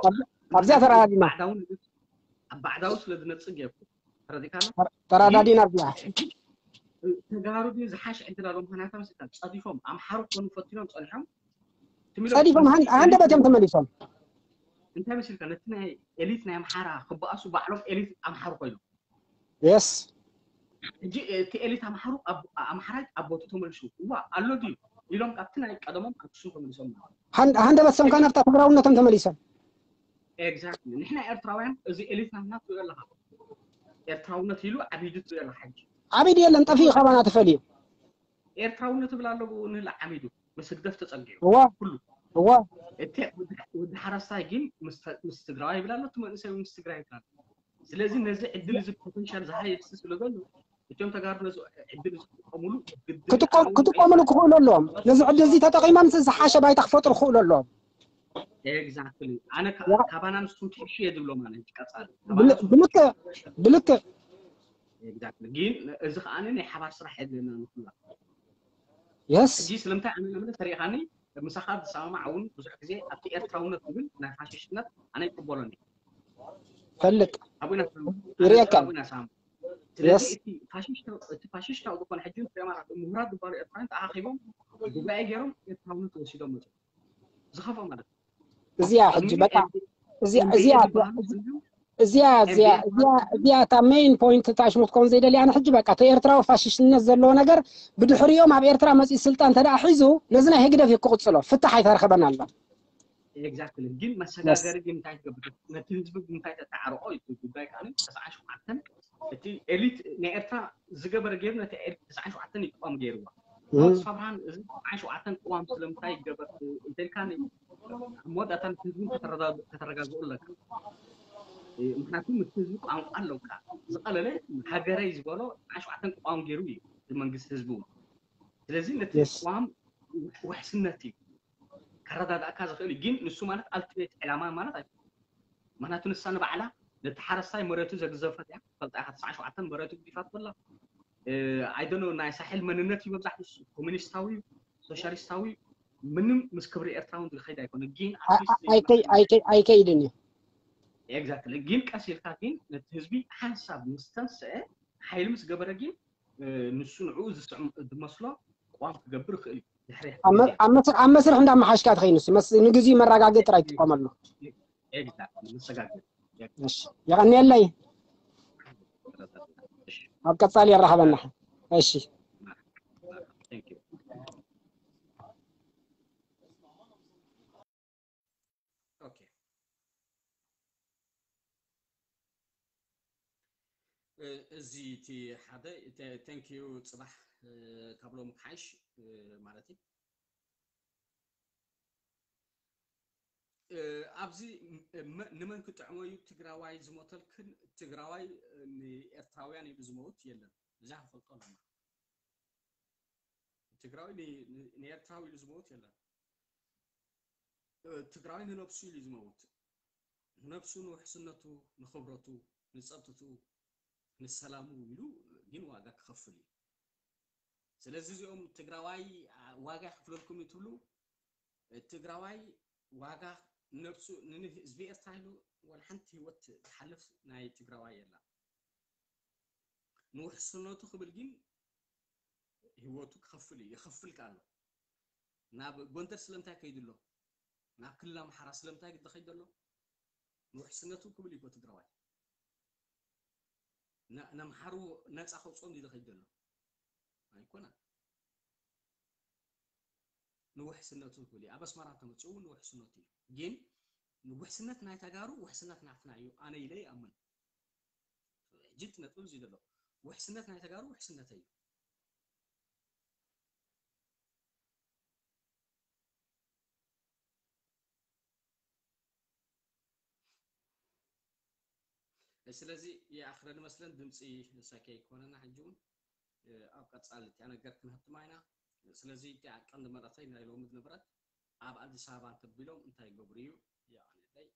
ኣብዚኣ ተረዳዲና ባዕዳዊ ንግድ ኣብ ባዕዳዊ ስለ ዝነጽግ እየ እኮ ተረዲካ ኣሎ ተረዳዲና ኣብዚኣ ተጋሩ ድዩ ዝሓሽ ዕድል ኣሎ ምክንያቱ መስልካ ጸዲፎም ኣምሓሩ ክኾኑ ፈቲኖም ጸኒሖም ትም ኢሎም ጸዲፎም ሃን- ሃንደበት እዮም ተመሊሶም። እንታይ መስልካ ነቲ ናይ ኤሊት ናይ ኣምሓራ ክበኣሱ ባዕሎም ኤሊት ኣምሓሩ ኮይኖም የስ ሕጂ እቲ ኤሊት ኣምሓሩ ኣብ- ኣምሓራይ ኣብ ቦቱ ተመልሱ እዋ ኣሎ ድዩ ኢሎም ካብቲ ናይ ቀደሞም ኣክሱም ተመሊሶም ኣለዉ ሃን- ሃንደበት ሰምካ ናብታ ትግራውነቶም ተመሊሶም። ኤግዛክትሊ ንሕና ኤርትራውያን እዚ ኤሊት ናትና ትሪኦ ኣለካ ኤርትራውነት ኢሉ ዓቢዱ ትሪኦ ኣለካ ሕጂ ዓቢዱ የለን ጠፊኡ ካባና ተፈልዩ። ኤርትራውነት ይብል ኣሎ ንላ ዓቢዱ ምስ ህግደፍ ተጸጊዑ እዋ ኩሉ እዋ እቲ ወዲ- ወዲ ሓረስታይ ግን ምስ ተ- ምስ ትግራዋይ ይብል ኣሎ እቲ መንእሰይ ምስ ትግራይ ይብል ኣሎ ስለዚ ነዚ ዕድል እዚ ፖቴንሻል ዝሃየስቲ ስለ ዘሎ እቶም ተጋሩ ነዚ ዕድል ዝጥቀሙሉ ግድን ክጥቀም- ክጥቀምሉ ክኽእሉ ኣለዎም። ነዚ ዕድል እዚ ተጠቒሞም ዝሓሸ ባይታ ክፈጥሩ ክኽእሉ ኣለዎም። ኤግዛክትሊ ኣነ ካ- ካባና ንስኹም ትሕሹ እየ ዝብሎም ኣነ ሕጂ ቀጻሊ ብል- ብልክዕ ብልክዕ ኤግዛክትሊ ግን እዚ ከዓ ናይ ሓባር ስራሕ የድልየና ንኩላ የስ ሕጂ ስለምንታይ ኣነ ንብለ ተሪኢኻኒ ምሳኻ ዝሰማማዕ እውን ብዙሕ ግዜ ኣብቲ ኤርትራውነት ዝብል ናይ ፋሽስትነት ኣነ ይቅበሎን እየ ፈልጥ ኣብና ይርእየካ። ኣብና ሳም የስ ስለዚ እቲ ፋሽስታዊ እቲ ፋሽስታዊ ዝኾነ ሕጂ ንሪኦም ኣለና ምሁራት ዝበሃሉ ኤርትራውያን ተኣኻኺቦም ጉባኤ ገይሮም ኤርትራውነት ወሲዶም መፅኦም ዝኸፍኦ ማለት እዩ እዚኣ ሕጂ በቃ እዚኣ እዚኣ እዚኣ እዚኣ እዚኣ እዚኣ እታ ሜይን ፖይንት እታ ሽሙ ክትከውን ዘይደሊ ኣነ ሕጂ በቃ እቲ ኤርትራዊ ፋሽስትነት ዘለዎ ነገር ብድሕሪኦም ኣብ ኤርትራ መፂኡ ስልጣን እንተ ደኣ ሒዙ ነዚ ናይ ህግደፍ እዩ ክቕፅሎ ፍታሕ ኣይተረኸበን ኣሎ ኤግዛክትሊ ግን መሰጋገሪ ግን እንታይ ትገብር ነቲ ህዝቢ ግን እንታይ ተተዓርቆ እዩ እቲ ጉዳይ ከዓ ተስዓን ሸውዓተን እቲ ኤሊት ናይ ኤርትራ ዝገበረ ገይሩ ነቲ ኤሊት ተስዓን ሸውዓተን እዩ ቅዋም ገይርዋ ሞት ሰብራን እዚ ተስዓን ሸውዓተን ቅዋም ስለምንታይ ይገበር እንተልካ ኣብ መወዳእታ ምስ ህዝቢ ከተረጋግኡ ኣለካ ምክንያቱ ምስ ህዝቢ ቋንቋ ኣለውካ ዝቐለለ ሃገረይ ዝበሎ ተስዓን ሸውዓተን ቅዋም ገይሩ እዩ እቲ መንግስቲ ህዝቢ እውን ስለዚ ነቲ Yes. ቅዋም ውሕስነት እዩ ከረዳድኣካ ዝኽእል እዩ ግን ንሱ ማለት ኣልቲሜት ዕላማ ማለት ኣይኮነን ምክንያቱ ንሳ ንባዕላ ነቲ ሓረስታይ መሬቱ ዘግዘፈት እያ ፈልጣ ኢኻ ተስዓ ሸውዓተ መሬቱ ግዲፋት በላ ኣይደኖ ናይ ሳሕል መንነት እዩ መብዛሕትኡ ንሱ ኮሚኒስታዊ እዩ ሶሻሊስታዊ እዩ ምንም ምስ ክብሪ ኤርትራ እውን ዝኸይድ ኣይኮነ ግን ኣይከይ- ኣይከይ- ኣይከይድን እዩ ኤግዛክትሊ ግን ቀስ ኢልካ ግን ነቲ ህዝቢ ሓንሳብ ምስ ተንስአ ሓይሊ ምስ ገበረ ግን እ፣ ንሱ ንዕኡ ዝስዕም ዝመስሎ ቅዋም ክገብር ይኽእል እዩ ድሕሪ ኣብ መ- ኣብ መስ- ኣብ መስርሕ እንዳመሓሽካ ትኸይድ ንሱ መስ- ንግዚኡ መረጋገጥ ጥራይ ትጥቀመሉ ኤግዛክትሊ መሰጋገር እሺ የቐንየለይ እሺ ኣብ ቀጻሊ የራኸበና እሺ Thank you። Okay. እ- እዚ እቲ ሓደ ተ- thank you ጽባሕ እ፣ ካብ ሎሚ ክሓይሽ እ፣ ማለት እዩ እ፣ ኣብዚ ም- ም- ንመን ክጥዕሞ እዩ ትግራዋይ ዝሞተልክን ትግራዋይ እ፣ ንኤርትራውያን ኢሉ ዝመውት የለን እዛ ክንፈልጦ ኣለና ትግራዊ ን- ን- ንኤርትራዊ ኢሉ ዝመውት የለን እ፣ ትግራዊ ንነብሱ ኢሉ እዩ ዝመውት ንነብሱ ንውሕስነቱ ንክብረቱ ንፀጥትኡ ንሰላሙ ኢሉ ግን ዋጋ ክኸፍል እዩ ስለዚ እዚኦም ትግራዋይ አ፣ ዋጋ ይኽፍለልኩም እዩ ትብሉ እ፣ ትግራዋይ ዋጋ ነብሱ ንህዝቢ ኤርትራ ኢሉ ዋላ ሓንቲ ህይወት ዝሓልፍ ናይ ትግራዋይ የላ ንውሕስነቱ ክብል ግን ህይወቱ ክኸፍል እዩ ይኸፍል ከ ኣሎ ናብ ጎንደር ስለምንታይ ከይዱ ኣሎ ናብ ክልል ኣምሓራ ስለምንታይ ዝኸይድ ዘሎ ንውሕስነቱ ክብል እዩ ትግራዋይ ን- ነምሓሩ ነፃ ከውፅኦም ድዩ ዝኸይድ ዘሎ ኣይኮነን ንውሕስነቱ ክብል እዩ ኣብ ኣስመራ ተመፅኡ እውን ንውሕስነቱ እዩ ግን ውሕስነት ናይ ተጋሩ ውሕስነት ናትና እዩ ኣነ ኢለ ይኣምን ሕጂ እቲ ነጥብ እዚ ዘሎ ውሕስነት ናይ ተጋሩ ውሕስነተይ እዩ ስለዚ ይኣኽለኒ መስለን ድምፂ ሳኪ ኣይኮነና ሕጂ እውን ኣብ ቀፃሊ እቲኣ ነገር ክንህብትማ ኢና ስለዚ እቲኣ ቀንዲ መረተይ ናይ ሎሚ ዝነበረት ኣብ ኣዲስ ኣበባ እንተቢሎም እንታይ ይገብሩ እዩ የቐንየለይ